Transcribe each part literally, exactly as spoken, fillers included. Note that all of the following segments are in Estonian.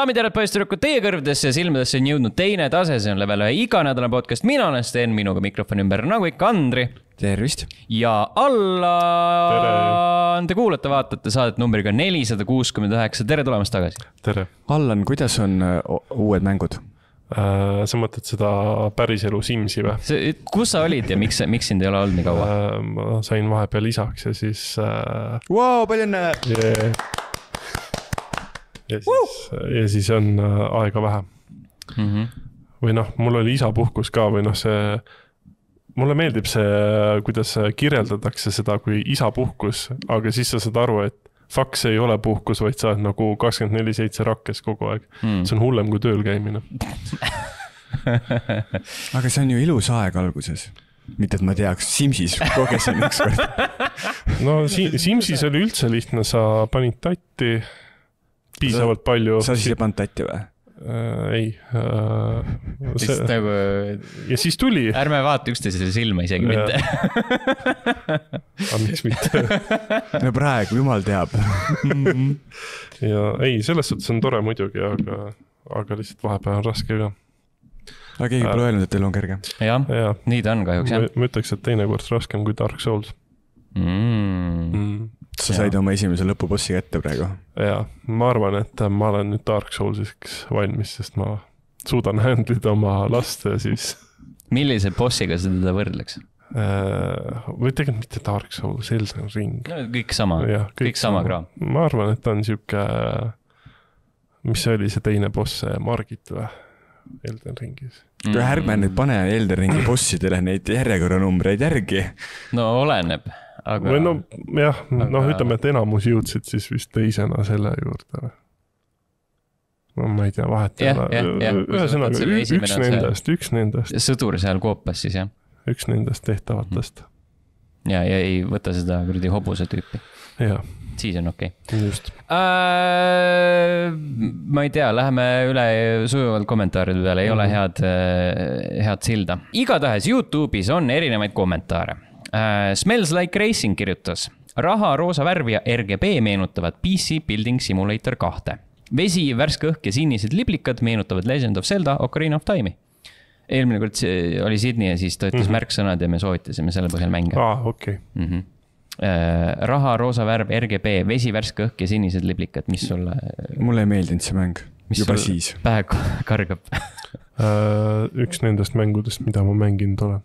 Daamid ja poisssüdrukud, teie kõrvdesse ja silmadesse on jõudnud teine tase, see on level ühe iganädala podcast. Mina olen Sten, minuga mikrofoni ümber nagu ikka Andri. Tervist. Ja alla te kuulate, vaatate saadet numbriga nelisada kuuskümmend üheksa. Tere tulemast tagasi. Tere. Allan, kuidas on uued mängud? Äh, sa mõtled seda päriselu Simsi või? See, kus sa olid ja miks, miks sind ei ole olnud nii kaua? Äh, ma sain vahepeal isaks ja siis... Äh, wow, palju õnne! Yeah. Ja siis, ja siis on aega vähe. Mm-hmm. Või noh, mul oli isapuhkus ka või noh, see, mulle meeldib see, kuidas kirjeldatakse seda kui isapuhkus, aga siis sa saad aru, et fuck, see ei ole puhkus, vaid sa oled nagu kakskümmend neli seitse rakkes kogu aeg. Mm. See on hullem kui tööl käimine. Aga see on ju ilus aeg alguses. Mitte, et ma teaks, Simsis kogesin üks kord. No Simsis oli üldse lihtne, sa panid tatti piisavalt palju. Sa siis ei pannud tatti või? Äh, ei. Äh, see... nagu... Ja siis tuli. Ärme vaata üksteisele silma isegi ja. Mitte. Aga miks mitte? No praegu, jumal teab. Ja ei, selles suhtes on tore muidugi, aga, aga lihtsalt vahepeal on raske ka. Aga keegi pole öelnud, et teil on kerge. Jah, ja. Nii ta on kahjuks. Ma, ma ütleks, et teine kord raskem kui Dark Souls. Mm. Mm. Sa said oma esimese lõpubossi ette praegu. Jaa, ma arvan, et ma olen nüüd Dark Soulsiks valmis, sest ma suudan handlida oma last ja siis... Millise bossiga sa teda võrdleks? Äh, või tegelikult mitte Dark Souls, Elden Ring. No, kõik sama, ja, kõik, kõik sama kraam. Ma arvan, et ta on siuke... Mis oli see teine boss, Margit või? Elden Ringis. Mm. Ärme nüüd pane Elden Ringi bossidele neid järjekorranumbreid järgi. No oleneb. Aga... Või no, jah, aga... noh, ütleme, et enamus jõudsid siis vist teisena selle juurde. No ma ei tea, vahet ja, ja, ja. Ühesõnaga, üks nendest, üks nendest. Sõdur seal koopas siis, jah? Üks nendest tehtavatest. Ja, ja ei võta seda kuradi hobuse tüüpi. Ja. Siis on okei. Okay. Just. Äh, ma ei tea, läheme üle sujuvalt kommentaaride peale, ei mm-hmm. ole head, head silda. Igatahes YouTube'is on erinevaid kommentaare. Uh, Smells Like Racing kirjutas. Raha, roosa värv ja R G B meenutavad P C Building Simulator kaks. Vesi, värske õhk ja sinised liblikad meenutavad Legend of Zelda, Ocarina of Time'i. Eelmine kord oli Sydney ja siis ta ütles mm-hmm. märksõnad ja me soovitasime selle põhjal mänge. Ah, okei. Okay. Mm-hmm. Uh, raha, roosa värv, R G B, vesi, värske õhk ja sinised liblikad. Mis sulle... Mulle ei meeldinud see mäng. Mis juba siis. Pähe kargab? uh, üks nendest mängudest, mida ma mänginud olen.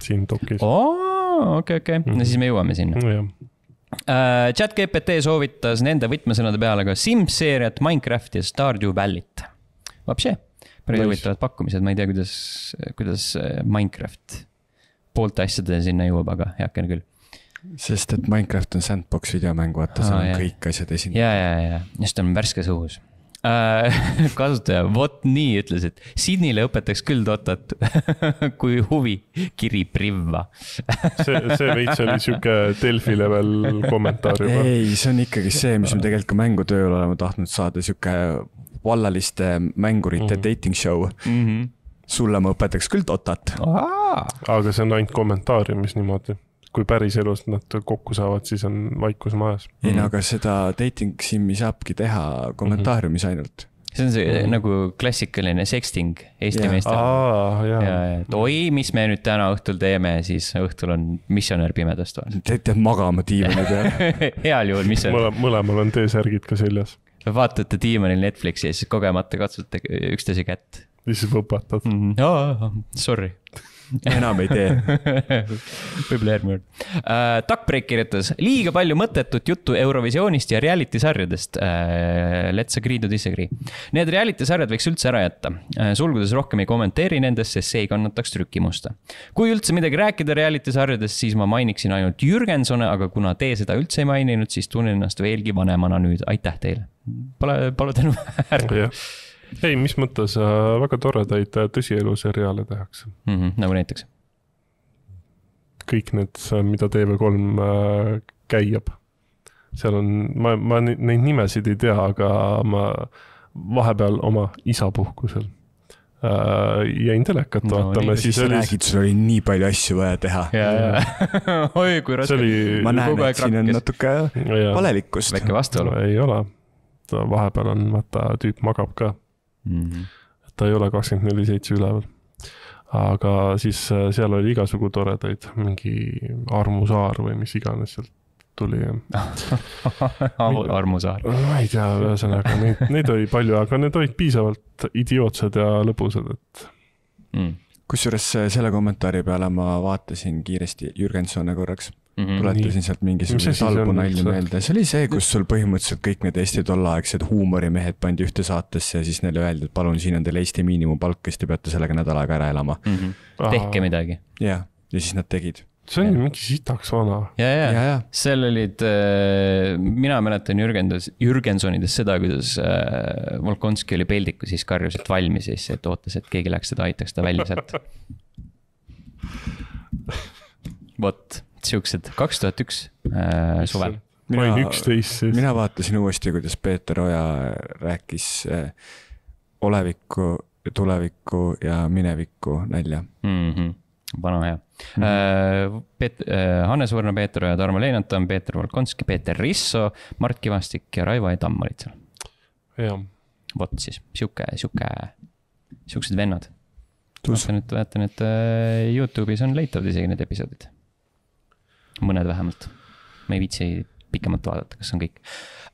Siin dokis. Oo! Okei, okei. No siis me jõuame sinna. No, uh, Chat G P T soovitas nende võtmesõnade peale ka Sims-seeriat, Minecraft ja Stardew Valley't. Vapše, päris huvitavad pakkumised. Ma ei tea, kuidas, kuidas Minecraft poolt asjade sinna jõuab, aga heaken küll. Sest et Minecraft on sandbox videomäng, vaata, seal on ah, kõik asjad esindatud. Ja, ja, ja. Just on värskes õhus. Kasutaja, vot nii ütles, et Sydneyle õpetaks küll Dotat kui huvi kiri privva. see, see veits oli siuke Delfi level kommentaar juba. Ei, see on ikkagi see, mis me tegelikult ka mängutööl oleme tahtnud saada, siuke vallaliste mängurite mm-hmm. dating show. Mm-hmm. Sulle ma õpetaks küll Dotat. Aa! Aga see on ainult kommentaariumis niimoodi. Kui päris elust nad kokku saavad, siis on vaikus majas. Ei, mm. aga seda dating simmi saabki teha kommentaariumis mm-hmm. ainult. See on see mm-hmm. nagu klassikaline sexting Eesti yeah. meestel. Aa, ja, et oi, mis me nüüd täna õhtul teeme, siis õhtul on missionär pimedast. Te teed magama diimani peale. Heal juhul missionär. Mõle, mõlemal on T-särgid ka seljas. Vaatate diimanil Netflixi ja siis kogemata katsute üksteise kätt. Siis võpatad. Mm-hmm. Oh, sorry. Enam ei tee. Võib-olla järgmine kord. Uh, Duckbreak kirjutas liiga palju mõttetut juttu Eurovisioonist ja reality sarjadest. Uh, let's agree to disagree. Need reality sarjad võiks üldse ära jätta. Uh, sulgudes rohkem ei kommenteeri nendest, sest see ei kannataks trükimusta. Kui üldse midagi rääkida reality sarjadest, siis ma mainiksin ainult Jürgensone, aga kuna te seda üldse ei maininud, siis tunnen ennast veelgi vanemana nüüd. Aitäh teile. Pole, pole tänu ära. Ei, mis mõttes äh, väga toredaid tõsielu seriaale tehakse. Mm-hmm, nagu näiteks? Kõik need, mida T V kolm äh, käiab. Seal on, ma, ma neid nimesid ei tea, aga ma vahepeal oma isapuhkusel äh, jäin telekat no, vaatama. Siis oli... räägid, sul oli nii palju asju vaja teha. Ja, ja. Oi, kui raske. Oli... Ma näen, et siin on natuke valelikkust. Väike vastuolu. Ei ole. et vahepeal on, vaata, tüüp magab ka. Mm-hmm. Et ta ei ole kakskümmend neli seitse üleval. Aga siis seal oli igasugu toredaid, mingi Armu Saar või mis iganes sealt tuli. Armu Saar. Ma ei tea, ühesõnaga, neid, neid oli palju, aga need olid piisavalt idiootsed ja lõbusad, et... Mm. Kusjuures selle kommentaari peale ma vaatasin kiiresti Jürgensone korraks. Mm-hmm. Tuletasin sealt mingisuguse salbu nalju meelde. See oli see, kus sul põhimõtteliselt kõik need Eesti tollaaegsed huumorimehed pandi ühte saatesse ja siis neile öeldi, et palun, siin on teil Eesti miinimumpalk, kes te peate sellega nädal aega ära elama. Mm-hmm. Tehke midagi. Ja, ja siis nad tegid. See on mingi sitaks vana. Ja, ja, ja, ja. Seal olid, äh, mina mäletan Jürgens, Jürgensonides seda, kuidas äh, Volkonski oli peldiku, siis karjus, et valmis siis, et ootas, et keegi läks seda, aitaks ta välja sealt. Vot. Siuksed kaks tuhat üks äh, suvel. Mina, üksteist siis. Mina vaatasin uuesti, kuidas Peeter Oja rääkis äh, olevikku, tulevikku ja minevikku nälja. Mm-hmm. Vana hea. Mm-hmm. Peet, äh, Hannes Võrno, Peeter Oja, Tarmo Leinatan, Peeter Volkonski, Peeter Risso, Mart Kivastik ja Raivo Edam olid seal. Jah. Vot siis, siuke, siuke, siuksed vennad. Vaatan, et, vaatan, et äh, YouTube'is on leitavad isegi need episoodid. Mõned vähemalt. Ma ei viitsi pikemalt vaadata, kas on kõik.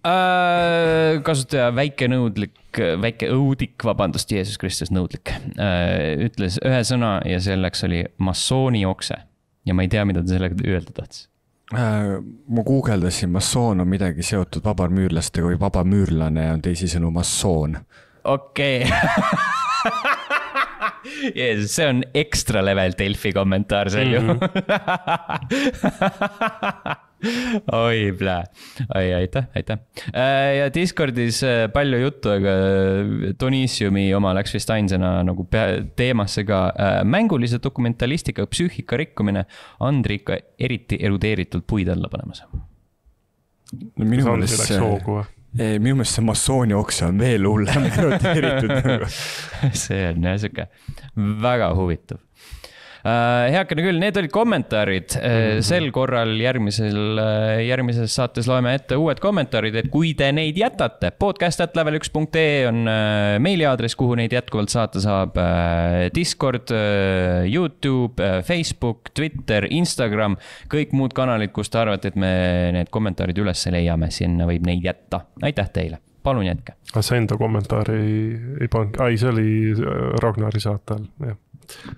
Äh, kasutaja väike nõudlik, väike õudik, vabandust, Jeesus Kristus nõudlik, äh, ütles ühe sõna ja selleks oli massooni okse. Ja ma ei tea, mida ta sellega öelda tahtis. Äh, ma guugeldasin, massoon on midagi seotud vabarmüürlastega või vabamüürlane on teisisõnu massoon. Okei. Okay. Jeesus, see on ekstra level Delfi kommentaar seal ju. Oi, plää. Oi, aitäh, aitäh. Ja Discordis palju juttu, aga Donissiumi oma läks vist ainsana nagu teemasse ka mängulise dokumentalistika psüühika rikkumine Andri ikka eriti erudeeritult puid alla panemas. No minu mõelest see... Ei, minu mõelest see massooni okse on veel hullem eroteeritud. See on jah siuke väga huvitav. Heakene küll, need olid kommentaarid. Sel korral järgmisel, järgmises saates loeme ette uued kommentaarid, et kui te neid jätate, podcast at level üks punkt ee on meiliaadress, kuhu neid jätkuvalt saata saab. Discord, YouTube, Facebook, Twitter, Instagram, kõik muud kanalid, kus te arvate, et me need kommentaarid üles leiame, sinna võib neid jätta. Aitäh teile, palun jätke. Aga see enda kommentaari ei, ei pannud, ai, see oli Ragnari saatel, jah.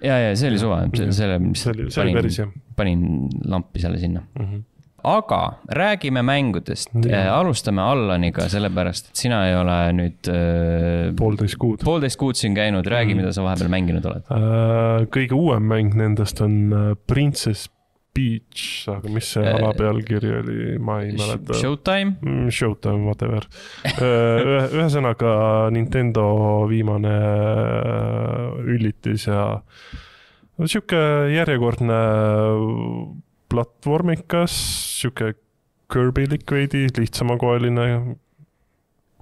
Ja, ja see oli suva, selle, mis see oli, see panin, päris, panin lampi selle sinna. Mm-hmm. Aga räägime mängudest. Äh, alustame Allaniga, sellepärast, et sina ei ole nüüd äh, poolteist kuud. Poolteist kuud siin käinud, räägi, mm-hmm. mida sa vahepeal mänginud oled. Äh, kõige uuem mäng nendest on Princess Peach, aga mis see ala pealkiri oli, ma ei mäleta. Showtime? Showtime, whatever. Ühesõnaga Nintendo viimane üllitis ja siuke järjekordne platvormikas, siuke Kirby-lik veidi, lihtsamakoeline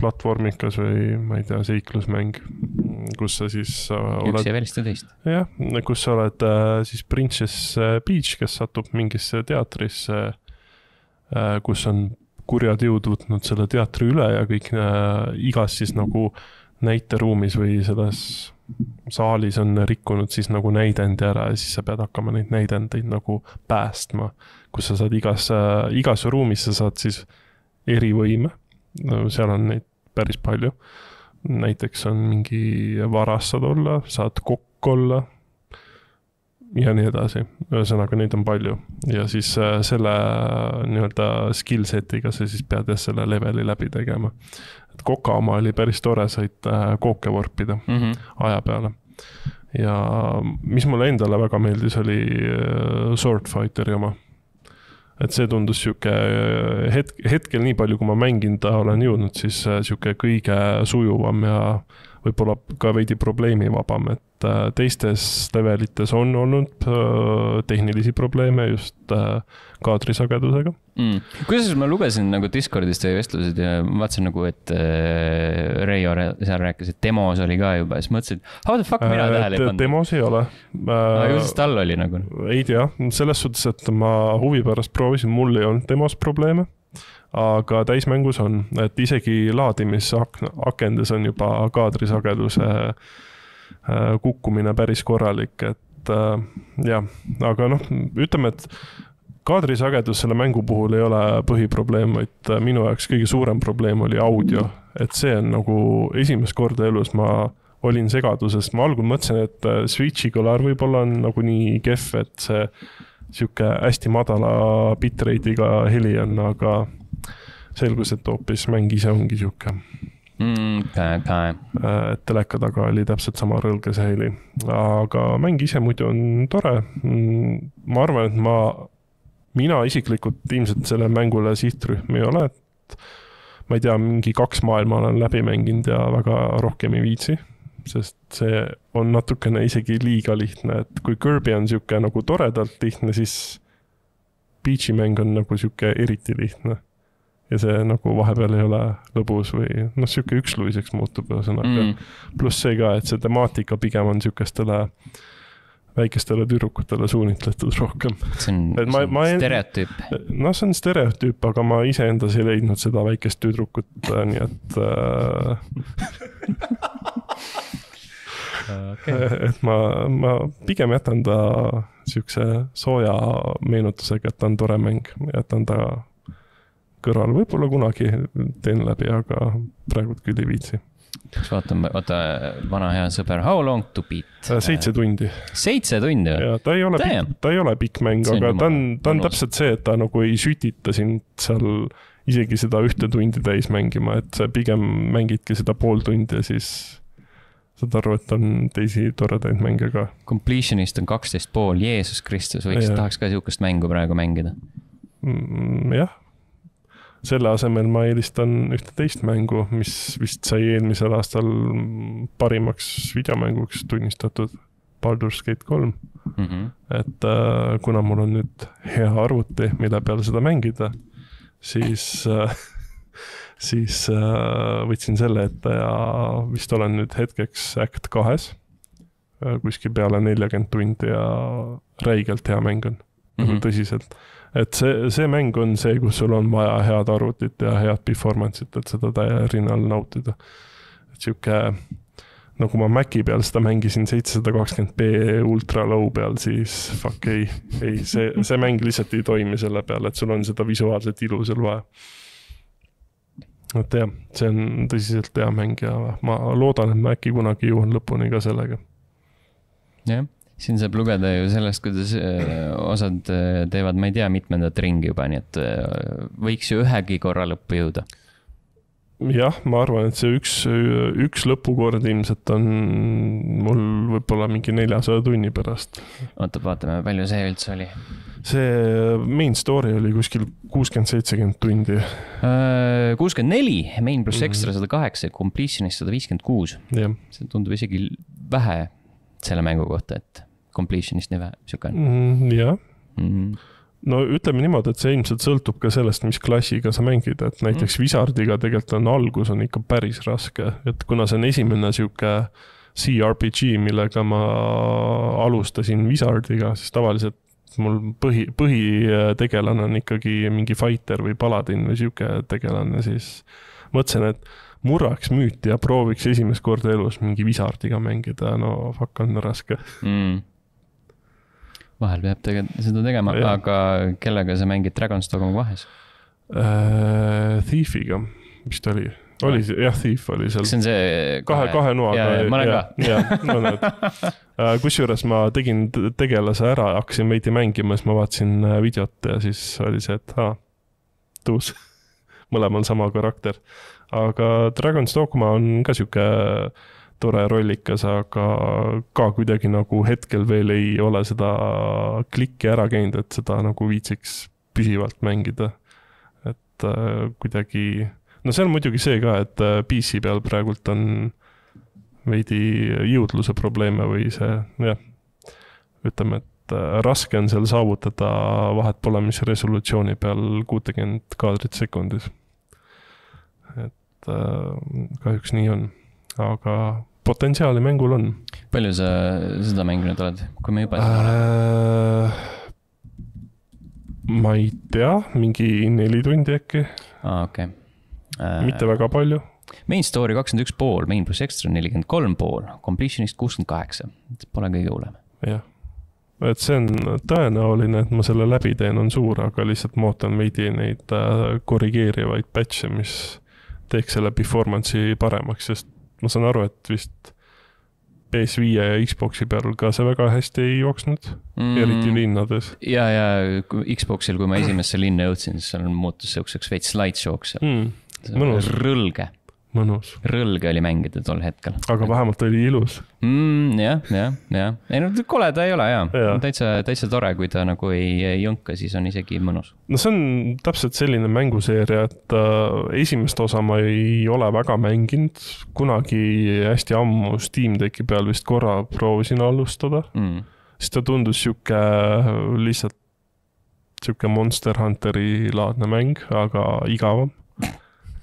platvormikas või ma ei tea, seiklusmäng, kus sa siis oled... Üks ja välista teist. Jah, kus sa oled siis Princess Peach, kes satub mingisse teatrisse, kus on kurjad jõud võtnud selle teatri üle ja kõik igas siis nagu näiteruumis või selles saalis on rikkunud siis nagu näidendi ära ja siis sa pead hakkama neid näidendeid nagu päästma, kus sa saad igas, igas ruumis sa saad siis erivõime, seal on neid päris palju. Näiteks on mingi varas saad olla, saad kokk olla ja nii edasi. Ühesõnaga neid on palju. Ja siis selle nii-öelda skill setiga sa siis pead selle leveli läbi tegema. Et koka oma oli päris tore, said kooke vorpida mm-hmm. aja peale. Ja mis mulle endale väga meeldis, oli Sword Fighteri oma. Et see tundus siuke hetk, hetkel nii palju, kui ma mängin ta olen jõudnud, siis siuke kõige sujuvam ja võib-olla ka veidi probleemivabam, et teistes levelites on olnud tehnilisi probleeme just kaadrisagedusega. Mm. Kuidas ma lugesin nagu Discordist teie vestlused ja vaatasin nagu, et Reijo seal rääkis, et demos oli ka juba ja siis mõtlesin, et how the fuck mina tähele ei pannud? Demos ei ole. Aga just tal oli nagu? Ei tea, selles suhtes, et ma huvi pärast proovisin, mul ei olnud demos probleeme. aga täismängus on, et isegi laadimisakendes on juba kaadrisageduse kukkumine päris korralik, et jah, aga noh, ütleme, et kaadrisagedus selle mängu puhul ei ole põhiprobleem, vaid minu jaoks kõige suurem probleem oli audio, et see on nagu esimest korda elus ma olin segaduses, ma algul mõtlesin, et Switchi kõlar võib-olla on nagu nii kehv, et see siuke hästi madala bitrate'iga heli on, aga selgus, et hoopis mäng ise ongi siuke. Mm, okay, okay. Et teleka taga oli täpselt sama rõlge see heli. Aga mäng ise muidu on tore. Ma arvan, et ma, mina isiklikult ilmselt selle mängule sihtrühm ei ole. Et ma ei tea, mingi kaks maailma olen läbi mänginud ja väga rohkem ei viitsi. Sest see on natukene isegi liiga lihtne. Et kui Kirby on siuke nagu toredalt lihtne, siis Peachi mäng on nagu siuke eriti lihtne. Ja see nagu vahepeal ei ole lõbus või noh, siuke üksluiseks muutub sõnaga. Mm. Pluss see ka, et see temaatika pigem on siukestele väikestele tüdrukutele suunitletud rohkem. See on, et ma, see on ma stereotüüp. No see on stereotüüp, aga ma ise endas ei leidnud seda väikest tüdrukut, nii et okay. Et ma, ma pigem jätan ta siukse sooja meenutusega, et ta on tore mäng, jätan ta kõrval. Võib-olla kunagi teen läbi, aga praegu küll ei viitsi. Vaatame, vaata vana hea sõber, how long to beat? Seitse tundi. Seitse tundi? Ja, ta ei ole, pikk, ta ei ole pikk mäng, aga ta on, ta on täpselt see, et ta nagu ei sütita sind seal isegi seda ühte tundi täis mängima, et sa pigem mängidki seda pool tundi ja siis saad aru, et on teisi toredaid mänge ka. Completionist on kaksteist pool, Jeesus Kristus, võiks ja. Tahaks ka siukest mängu praegu mängida. Mm, jah. Selle asemel ma eelistan ühte teist mängu, mis vist sai eelmisel aastal parimaks videomänguks tunnistatud, Baldur's Gate kolm. Mm-hmm. Et äh, kuna mul on nüüd hea arvuti, mille peale seda mängida, siis, äh, siis äh, võtsin selle ette ja vist olen nüüd hetkeks Act kahes, äh, kuskil peale nelikümmend tundi ja räigelt hea mäng on, mm-hmm. tõsiselt. Et see, see mäng on see, kus sul on vaja head arvutit ja head performance'it, et seda täie rinnal nautida. Et siuke, nagu ma Maci peal seda mängisin seitsesada kakskümmend p ultra low peal, siis fuck ei, ei see, see mäng lihtsalt ei toimi selle peal, et sul on seda visuaalset ilu seal vaja. Et jah, see on tõsiselt hea mäng ja ma loodan, et Maci kunagi jõuan lõpuni ka sellega. Jah. Siin saab lugeda ju sellest, kuidas osad teevad, ma ei tea, mitmendat ringi juba, nii et võiks ju ühegi korra lõppu jõuda. Jah, ma arvan, et see üks, üks lõpukord ilmselt on mul võib-olla mingi neljasaja tunni pärast. Oota, vaatame, palju see üldse oli? See main story oli kuskil kuuskümmend seitsekümmend tundi. kuuskümmend neli, main pluss ekstra sada kaheksa, completionist sada viiskümmend kuus. Yeah. See tundub isegi vähe selle mängu kohta, et completionist nii vähe, siuke on. Mm, jah. Mm. No ütleme niimoodi, et see ilmselt sõltub ka sellest, mis klassiga sa mängid, et näiteks mm. Wizardiga tegelikult on algus on ikka päris raske, et kuna see on esimene siuke C R P G, millega ma alustasin Wizardiga, siis tavaliselt mul põhi, põhitegelane on ikkagi mingi fighter või paladin või siuke tegelane, siis mõtlesin, et murraks müüti ja prooviks esimest korda elus mingi Wizardiga mängida, no fuck on raske. Mm. Vahel peab tege- seda tegema, ja. Aga kellega sa mängid Dragon's Dogma vahes? Uh, Thiefiga, mis ta oli? Oli see, jah, Thief oli seal. See on see kahe, kahe noaga. Ja, ma olen ja, ka. Ja, mõned. Uh, kusjuures ma tegin tegelase ära, hakkasin veidi mängima, siis ma vaatasin videot ja siis oli see, et aa, tuus. Mõlemal sama karakter. Aga Dragon's Dogma on ka siuke tore rollikas, aga ka kuidagi nagu hetkel veel ei ole seda klikki ära käinud, et seda nagu viitsiks püsivalt mängida. Et äh, kuidagi, no see on muidugi see ka, et P C peal praegult on veidi jõudluse probleeme või see, jah, ütleme, et raske on seal saavutada vahet pole, mis resolutsiooni peal kuuskümmend kaadrit sekundis. Et äh, kahjuks nii on, aga potentsiaali mängul on. Palju sa seda mänginud oled, kui me juba äh, ma ei tea, mingi neli tundi äkki. Aa, okei. Okay. Mitte väga palju. Main story kakskümmend üks pool, main plus extra nelikümmend kolm pool, completionist kuuskümmend kaheksa. Pole kõige hullem. Jah. Et see on tõenäoline, et ma selle läbi teen on suur, aga lihtsalt ma ootan veidi neid korrigeerivaid patche, mis teeks selle performance'i paremaks, sest ma saan aru, et vist P S viie ja Xboxi peal ka see väga hästi ei jooksnud, mm. eriti linnades. Ja, ja Xboxil, kui ma esimesse linna jõudsin, siis seal muutus seukseks veits slideshow'ks. Mm. Mõnus. Rõlge. Mõnus. Rõlge oli mängida tol hetkel. Aga vähemalt oli ilus. Mm, jah, jah, jah. Ei, no koleda ei ole, jah. Ja. Täitsa, täitsa tore, kui ta nagu ei jõnka, siis on isegi mõnus. No see on täpselt selline mänguseeria, et äh, esimest osa ma ei ole väga mänginud. Kunagi hästi ammu Steam Decki peal vist korra proovisin alustada. Mm. Siis ta tundus siuke lihtsalt siuke Monster Hunteri laadne mäng, aga igavam.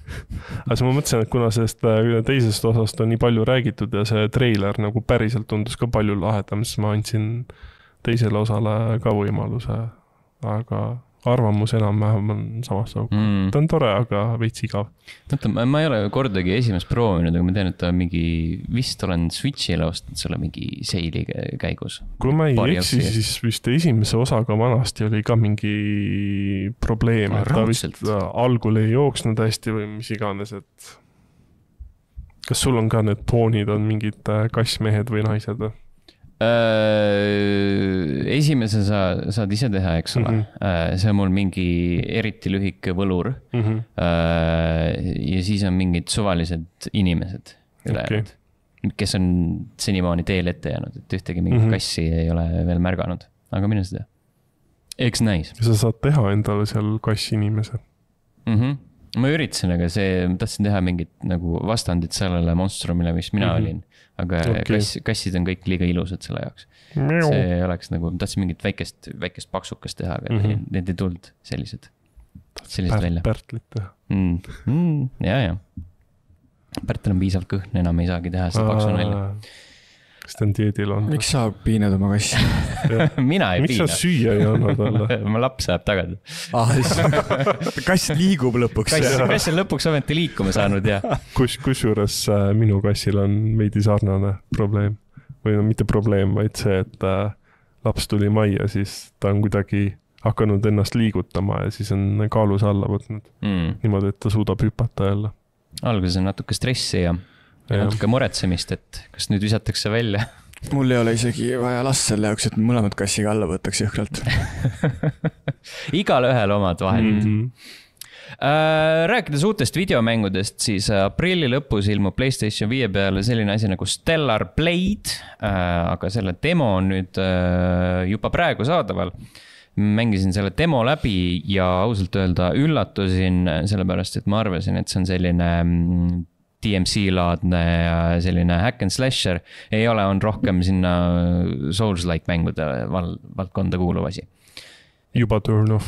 Aga siis ma mõtlesin, et kuna sellest teisest osast on nii palju räägitud ja see treiler nagu päriselt tundus ka palju lahedam, siis ma andsin teisele osale ka võimaluse, aga arvamus enam-vähem on samast sauga. Mm. Ta on tore, aga veits igav. Mõtta, ma ei ole kordagi esimest proovinud, aga ma tean, et ta mingi, vist olen Switch'ile ostnud selle mingi seili käigus. Kui ma ei eksi, siis vist esimese osaga vanasti oli ka mingi probleem, et ta vist algul ei jooksnud hästi või mis iganes, et kas sul on ka need poonid on mingid kassmehed või naised või? Esimese sa saad ise teha, eks ole. Mm-hmm. See on mul mingi eriti lühike võlur. Mm-hmm. Ja siis on mingid suvalised inimesed, okay. kes on senimaani teel ette jäänud, et ühtegi mingit mm-hmm. kassi ei ole veel märganud. Aga mine seda. Eks näis. Sa saad teha endale seal kassi inimese. Mm-hmm. Ma üritasin, aga see, ma tahtsin teha mingit nagu vastandit sellele monstrumile, mis mina mm-hmm. olin. Aga okay. kass, kassid on kõik liiga ilusad selle jaoks. See oleks nagu, ma tahtsin mingit väikest, väikest paksukest teha, aga mm-hmm. need ei tuld sellised, sellised Pärt, välja. Pärtlit teha. Mm. Mm, ja, ja. Pärtel on piisavalt kõhn, enam ei saagi teha seda paksu välja. Kas ta on dieedil on? Miks sa piinad oma kassi? Mina ei Miks piina. Miks sa süüa ei anna talle? Ma laps saab tagada. Ah, kass liigub lõpuks. Kass, kass on lõpuks ometi liikuma saanud, ja. Kus, kus juures minu kassil on veidi sarnane probleem. Või no mitte probleem, vaid see, et laps tuli majja, siis ta on kuidagi hakanud ennast liigutama ja siis on kaalus alla võtnud. Mm. Niimoodi, et ta suudab hüpata jälle. Alguses on natuke stressi ja Ja natuke muretsemist, et kas nüüd visatakse välja. Mul ei ole isegi vaja last selle jaoks, et mõlemad kassiga alla võtaks jõhkralt. Igal ühel omad vahendid. Mm-hmm. Äh, rääkides uutest videomängudest, siis aprilli lõpus ilmub PlayStation viie peale selline asi nagu Stellar Blade, äh, aga selle demo on nüüd äh, juba praegu saadaval. Mängisin selle demo läbi ja ausalt öelda üllatusin sellepärast, et ma arvasin, et see on selline D M C-laadne selline hack and slasher ei ole, on rohkem sinna Souls-like mängude val valdkonda kuuluv asi. Juba turn off.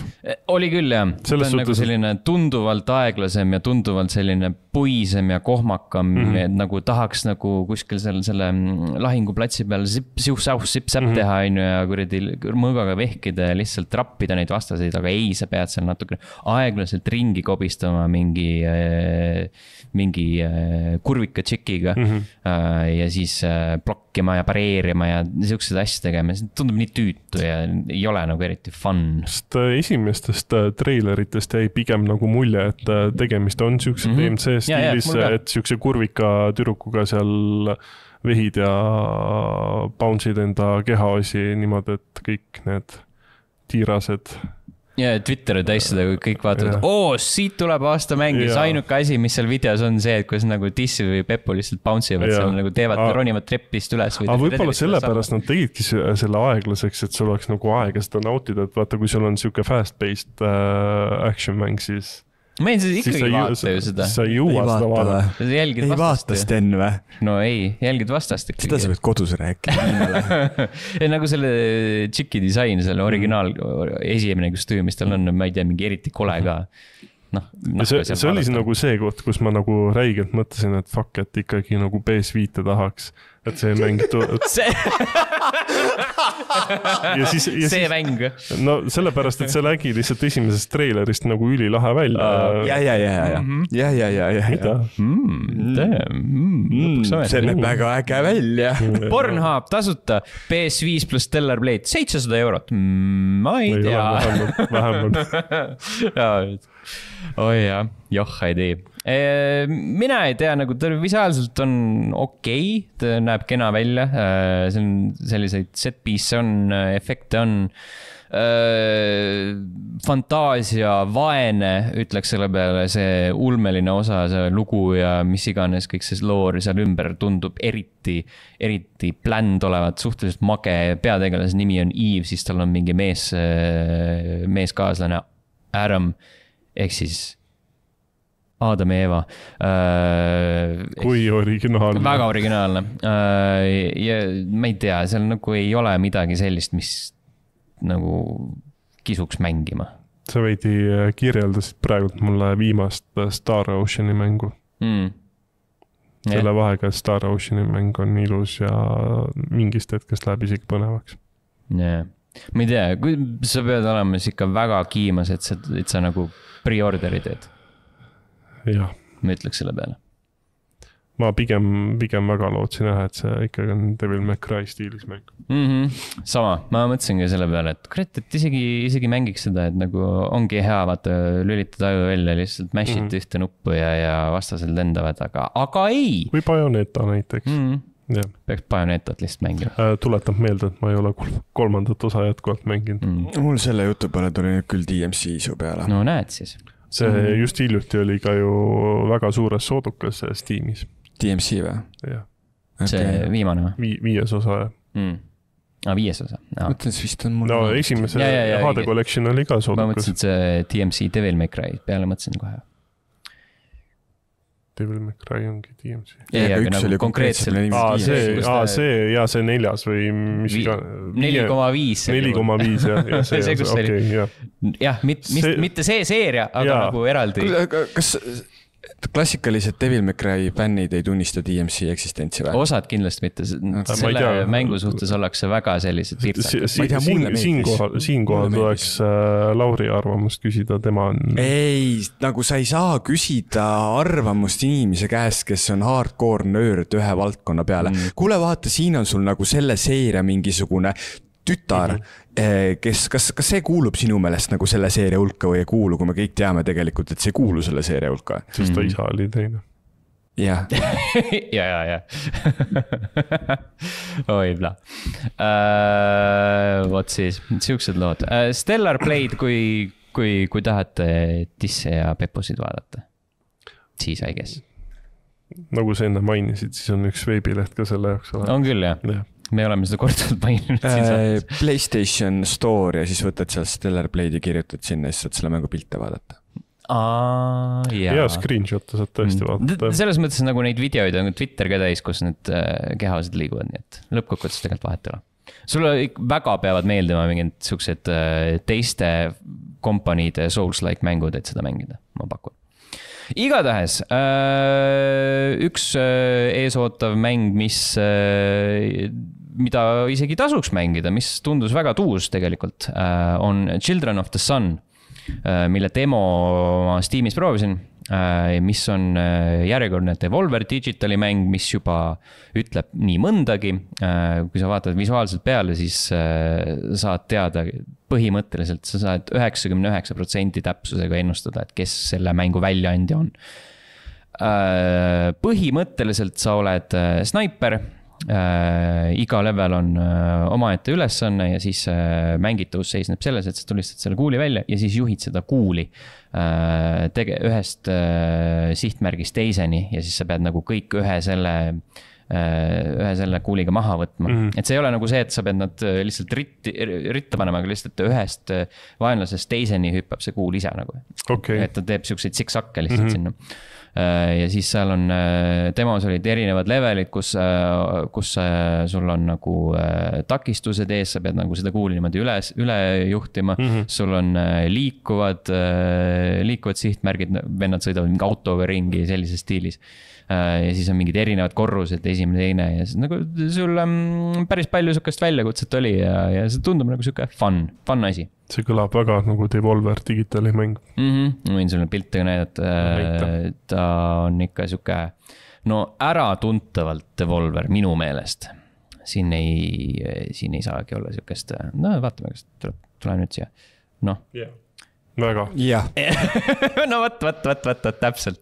Oli küll, jah. Ta on nagu selline tunduvalt aeglasem ja tunduvalt selline puisem ja kohmakam, mm-hmm. et nagu tahaks nagu kuskil selle, selle lahinguplatsi peal siuh-sauh, sip-säpp mm-hmm. teha ainu ja kuradi mõõgaga vehkida ja lihtsalt trappida neid vastaseid, aga ei, sa pead seal natuke aeglaselt ringi kobistama mingi, mingi kurvika tšikiga mm-hmm. ja siis blokkima ja pareerima ja siuksed asja tegema. See tundub nii tüütu ja ei ole nagu eriti fun. Sest esimestest treileritest jäi pigem nagu mulje, et tegemist on siukse mm-hmm. D M C stiilis, et siukse kurvika türukuga seal vehid ja bounce'id enda kehaosi niimoodi, et kõik need tiirased. Ja Twitteri täis seda, kui kõik vaatavad, oo, siit tuleb aasta mängis. Ainuke asi, mis seal videos on see, et kuidas nagu Dissi või Peppu lihtsalt bounce ivad, seal nagu teevad, ronivad treppist üles. Aga võibolla sellepärast nad tegidki selle aeglaseks, et sul oleks nagu aega seda nautida, et vaata, kui sul on siuke fast-paced äh, action mäng, siis ma ei ikkagi ei vaata ju seda. Sa ei jõua seda vaadata. Ei vaata Sten või? No ei, jälgid vastast. Seda sa pead kodus rääkida. Nagu selle tšiki disain, selle originaal esimene kostüüm, mis tal on, ma ei tea, mingi eriti kole ka. No, see, see oli nagu see koht, kus ma nagu räigelt mõtlesin, et fuck, et ikkagi nagu P S viite tahaks. et see mäng tuleb. see ja siis, ja see siis, mäng. No sellepärast, et see nägi lihtsalt esimesest treilerist nagu ülilahe välja. ja, ja, ja, ja, ja, ja, ja, ja, mida? See näeb väga äge välja. Pornhub tasuta, P S viis pluss Stellar Blade, seitsesada eurot. Ma ei tea. Vähemalt. Oi jah, joh, ei tea. Mina ei tea, nagu ta visuaalselt on okei, ta näeb kena välja, see on selliseid set piece on, efekte on, fantaasia, vaene, ütleks selle peale, see ulmeline osa, see lugu ja mis iganes, kõik see loor seal ümber tundub eriti, eriti bländ olevat, suhteliselt mage, peategelase nimi on Eve, siis tal on mingi mees, meeskaaslane Adam, ehk siis Adam ja Eva. Kui originaalne. Väga originaalne. Ja ma ei tea, seal nagu ei ole midagi sellist, mis nagu kisuks mängima. Sa veidi kirjeldasid praegult mulle viimast Star Oceani mängu. Mm. Selle vahega Star Oceani mäng on ilus ja mingist hetkest läheb isegi põnevaks. Yeah. Ma ei tea, kui sa pead olema ikka väga kiimas, et sa, et sa nagu pre-orderi teed. Jah. Ma ütleks selle peale. Ma pigem, pigem väga lootsin jah, et see ikkagi on Devil May Cry stiilis mäng. Mm-hmm. Sama, ma mõtlesin ka selle peale, et kurat, et isegi, isegi mängiks seda, et nagu ongi hea vaata lülitada aju välja, lihtsalt mash'id mm-hmm. ühte nuppu ja, ja vastasel lendavad, aga, aga ei. Või Bayonetta näiteks. Mm-hmm. Ja. Peaks Bayonetat lihtsalt mängima. Äh, tuletab meelde, et ma ei ole kolmandat osa jätkuvalt mänginud. Mm. Mul selle jutu peale tuli nüüd küll D M C su peale. No näed siis. See mm. just hiljuti oli ka ju väga suures soodukas Steamis. D M C või? Jah. Okay. See viimane või? Vi, viies osa, jah. Mm. Ah, viies osa. No. Mõtlen, see vist on mul... No esimese ja, ja, ja, H D Collection oli ka soodukas. Ma mõtlesin, et see D M C Devil May Cry peale mõtlesin kohe. Devil May Cry ongi D M C. Ja, ja, üks oli konkreetselt. Aa, see, aa, see, ja see neljas või mis vi, ka... neli koma viis. neli koma viis, jah. Ja see, see, see, okay, jah. jah, mit, see... mitte see seeria, aga ja. Nagu eraldi. Kas klassikalised Devil May Cry fännid ei tunnista D M C eksistentsi või? Osad kindlasti mitte. Selle mängu suhtes ollakse väga sellised pirtsad. Siinkohal tuleks Lauri arvamust küsida, tema on... Ei, nagu sa ei saa küsida arvamust inimese käest, kes on hardcore nörd ühe valdkonna peale. Mm. Kuule, vaata, siin on sul nagu selle seeria mingisugune tütar, mm-hmm. kes, kas, kas see kuulub sinu meelest nagu selle seeria hulka või ei kuulu, kui me kõik teame tegelikult, et see kuulu selle seeria hulka? Sest ta isa oli teine. Jah. ja, ja, ja. Oi, bla. Uh, Vot siis, siuksed lood. Uh, Stellar Blade, kui, kui, kui tahate tisse ja peppusid vaadata, siis I guess. Nagu sa enne mainisid, siis on üks veebileht ka selle jaoks. On küll, jah. Ja. Me oleme seda korduvalt maininud äh, PlayStation Store ja siis võtad seal Stellar Blade ja kirjutad sinna ja siis saad selle mängu pilte vaadata. Aa, jaa. Ja screenshot saad tõesti vaadata. Selles mõttes nagu neid videoid on Twitter ka täis, kus need kehased liiguvad, nii et lõppkokkuvõttes tegelikult vahet ei ole. Sulle väga peavad meeldima mingid suksed teiste kompaniide Souls-like mängud, et seda mängida, ma pakun. Igatahes, üks eesootav mäng, mis, mida isegi tasuks mängida, mis tundus väga tuus tegelikult, on Children of the Sun, mille demo ma Steamis proovisin, mis on järjekordne Devolver Digitali mäng, mis juba ütleb nii mõndagi. Kui sa vaatad visuaalselt peale, siis saad teada põhimõtteliselt, sa saad üheksakümmend üheksa protsenti täpsusega ennustada, et kes selle mängu väljaandja on. Põhimõtteliselt sa oled snaiper, iga level on omaette ülesanne ja siis mängitavus seisneb selles, et sa tulistad selle kuuli välja ja siis juhid seda kuuli tege, ühest sihtmärgist teiseni ja siis sa pead nagu kõik ühe selle, ühe selle kuuliga maha võtma. Mm-hmm. Et see ei ole nagu see, et sa pead nad lihtsalt ritti, ritta panema, aga lihtsalt ühest vaenlasest teiseni hüppab see kuul ise nagu. Okay. Et ta teeb siukseid siksakke lihtsalt mm-hmm. sinna. ja siis seal on, demos olid erinevad levelid, kus, kus sul on nagu takistused ees, sa pead nagu seda kuuli niimoodi üles, üle juhtima. Mm-hmm. Sul on liikuvad, liikuvad sihtmärgid, vennad sõidavad mingi autoga ringi sellises stiilis. Ja siis on mingid erinevad korrused, esimene, teine ja siis nagu sul um, päris palju sukast väljakutset oli ja, ja see tundub nagu siuke fun, fun asi. See kõlab väga nagu Devolver digitaali mäng. Mm-hmm. Võin sulle pilte näidata. Ta on ikka siuke, no äratuntavalt Devolver minu meelest. Siin ei, siin ei saagi olla siukest, no vaatame, kas tuleb, tuleb nüüd siia. Noh. Yeah. Väga. Jah. no võt, võt, võt, võt, võt, täpselt.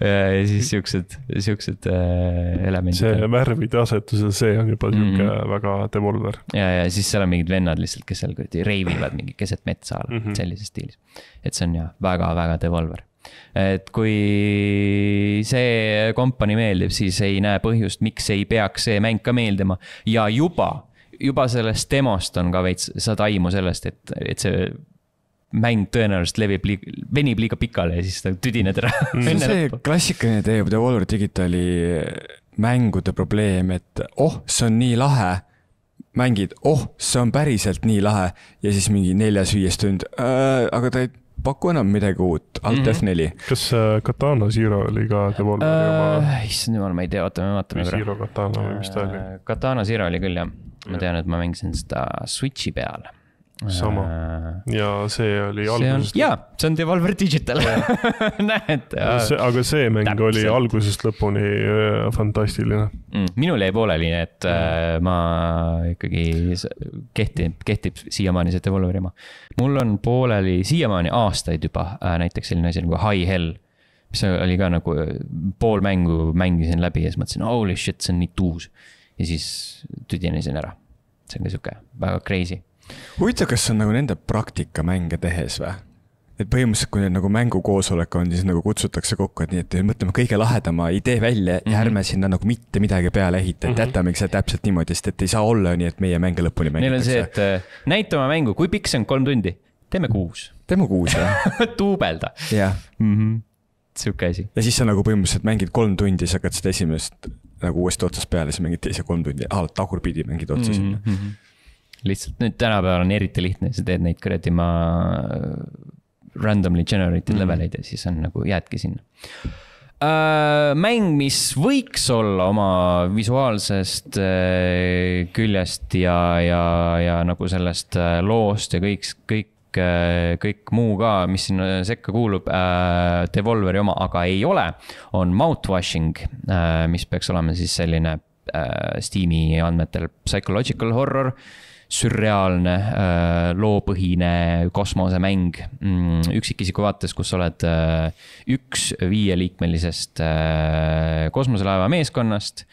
ja siis siuksed, siuksed elemendid. See värvide asetusel, see on juba siuke mm-hmm. väga Devolver. Ja, ja siis seal on mingid vennad lihtsalt, kes seal reivivad mingi keset metsa all mm-hmm. sellises stiilis. Et see on jah väga, väga Devolver. Et kui see kompani meeldib, siis ei näe põhjust, miks ei peaks see mäng ka meeldima. Ja juba juba sellest demost on ka veits, saad aimu sellest, et, et see mäng tõenäoliselt levib, venib liiga pikale ja siis ta tüdined ära. Mm. See klassikaline teeb Devolver Digitali mängude probleem, et oh, see on nii lahe, mängid, oh, see on päriselt nii lahe ja siis mingi neljas viies tund, äh, aga ta ei paku enam midagi uut, Alt mm-hmm. F neli. Kas Katana Zero oli ka Devolveri oma? Uh, issand jumal, ma ei tea, oota, me vaatame. Zero Katana või mis ta oli? Katana Zero oli küll, jah. Ma tean, et ma mängisin seda Switchi peal. Sama. Ja see oli see algusest... On, jaa, see on Devolver Digital. Näed. See, aga see mäng täpselt. Oli algusest lõpuni fantastiline. Mm, minul jäi pooleli, et mm. ma ikkagi kehtib, kehtib siiamaani see Devolveri oma. Mul on pooleli siiamaani aastaid juba näiteks selline asi nagu High Hell, mis oli ka nagu pool mängu mängisin läbi ja siis mõtlesin, holy shit, see on nii tuus. Ja siis tüdinesin ära. See on ka siuke väga crazy. Huvitav, kas on nagu nende praktika mänge tehes või? Et põhimõtteliselt, kui nüüd nagu mängukoosolek on, siis nagu kutsutakse kokku, et nii, et mõtleme kõige lahedama idee välja ja ärme mm-hmm. sinna nagu mitte midagi peale ehita, et mm-hmm. jätamegi see täpselt niimoodi, sest et ei saa olla nii, et meie mänge lõpuni mängitakse. Neil on see, et näitame mängu, kui pikk see on kolm tundi? Teeme kuus. Teeme kuus, jah. Tuubelda. Jah. Mm-hmm. Siuke asi. Ja siis sa nagu põhimõtteliselt mängid kolm tundi, sa hakkad seda esimest nagu uuesti otsast peale, siis mängid teise kolm tundi, ah, tagurpidi mängid otsa sinna. Mm-hmm. Lihtsalt nüüd tänapäeval on eriti lihtne, sa teed neid kuradi ma randomly generated mm. leveleid ja siis on nagu jäädki sinna. Uh, mäng, mis võiks olla oma visuaalsest uh, küljest ja, ja, ja nagu sellest uh, loost ja kõik, kõik, uh, kõik muu ka, mis sinna sekka kuulub, uh, Devolveri oma, aga ei ole, on Mouthwashing, uh, mis peaks olema siis selline uh, Steam'i andmetel psychological horror, sürreaalne, loopõhine kosmosemäng üksikisiku vaates, kus oled üks viieliikmelisest kosmoselaeva meeskonnast.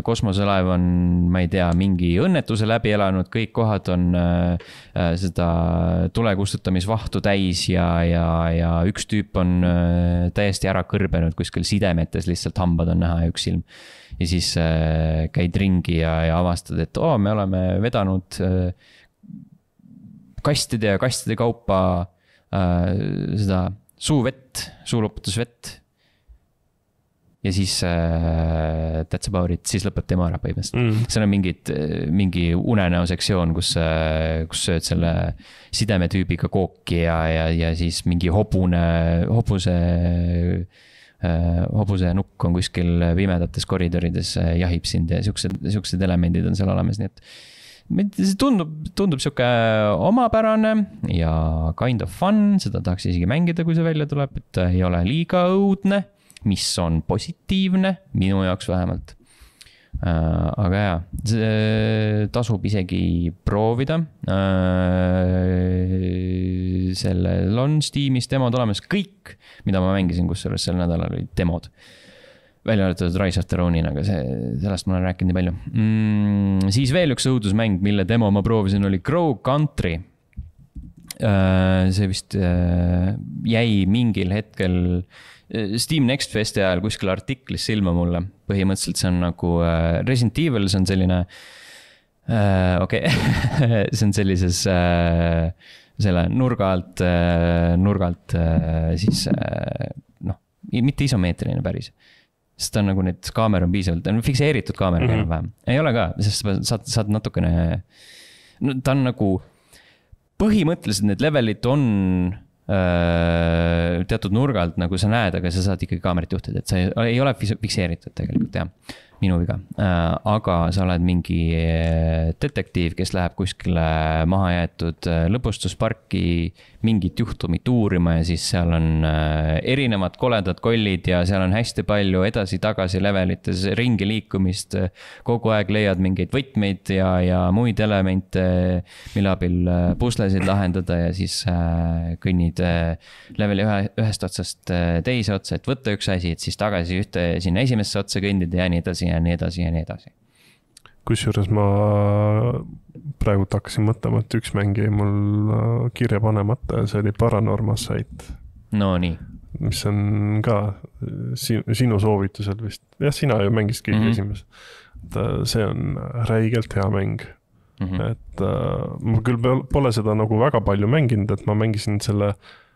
Kosmoselaev on, ma ei tea, mingi õnnetuse läbi elanud, kõik kohad on seda tulekustutamisvahtu täis ja, ja, ja üks tüüp on täiesti ära kõrbenud kuskil sidemetes, lihtsalt hambad on näha ja üks silm. Ja siis äh, käid ringi ja, ja avastad, et oo, me oleme vedanud äh, kastide ja kastide kaupa äh, seda suuvett, suuloputusvett. Ja siis äh, that's about it, siis lõpeb tema ära põhimõtteliselt. Mm. See on mingid, mingi unenäo sektsioon, kus, äh, kus sööd selle sidemetüübiga kooki ja, ja, ja siis mingi hobune, hobuse... hobuse nukk on kuskil pimedates koridorides, jahib sind ja siuksed, siuksed elemendid on seal olemas, nii et see tundub, tundub siuke omapärane ja kind of fun, seda tahaks isegi mängida, kui see välja tuleb, et ei ole liiga õudne, mis on positiivne, minu jaoks vähemalt. Aga jaa, see tasub isegi proovida. Sellel on Steamis demod olemas kõik, mida ma mängisin, kus selles sel nädalal olid demod. Välja arvatud Rise of the Ronin, aga see, sellest ma olen rääkinud nii palju. Mm, siis veel üks õudusmäng, mille demo ma proovisin, oli Crow Country. See vist jäi mingil hetkel Steam Next Festi ajal kuskil artiklis silma mulle. Põhimõtteliselt see on nagu Resident Evil, see on selline uh, okei, okay. see on sellises uh, selle nurga alt, nurga alt siis noh, mitte isomeetriline päris. Sest ta on nagu need kaamera on piisavalt, on fikseeritud kaamera mm -hmm. vähem. Ei ole ka, sest saad, saad natukene, no, ta on nagu põhimõtteliselt need levelid on öö, teatud nurgalt, nagu sa näed, aga sa saad ikkagi kaamerat juhtida, et sa ei, ei ole fikseeritud tegelikult, jah. Minu viga, aga sa oled mingi detektiiv, kes läheb kuskile maha jäetud lõbustusparki mingit juhtumit uurima ja siis seal on erinevad koledad kollid ja seal on hästi palju edasi-tagasi levelites ringi liikumist. Kogu aeg leiad mingeid võtmeid ja, ja muid elemente, mille abil puslesid lahendada ja siis kõnnid leveli ühe, ühest otsast teise otsa, et võtta üks asi, et siis tagasi ühte sinna esimesse otsa kõndida ja nii edasi ja nii edasi ja nii edasi. Kusjuures ma praegult hakkasin mõtlema, et üks mäng jäi mul kirja panemata ja see oli Paranormal Sight. No nii. Mis on ka sinu soovitusel vist. Jah, sina ju mängist kõik mm -hmm. esimest. See on räigelt hea mäng. Mm -hmm. Et ma küll pole seda nagu väga palju mänginud, et ma mängisin selle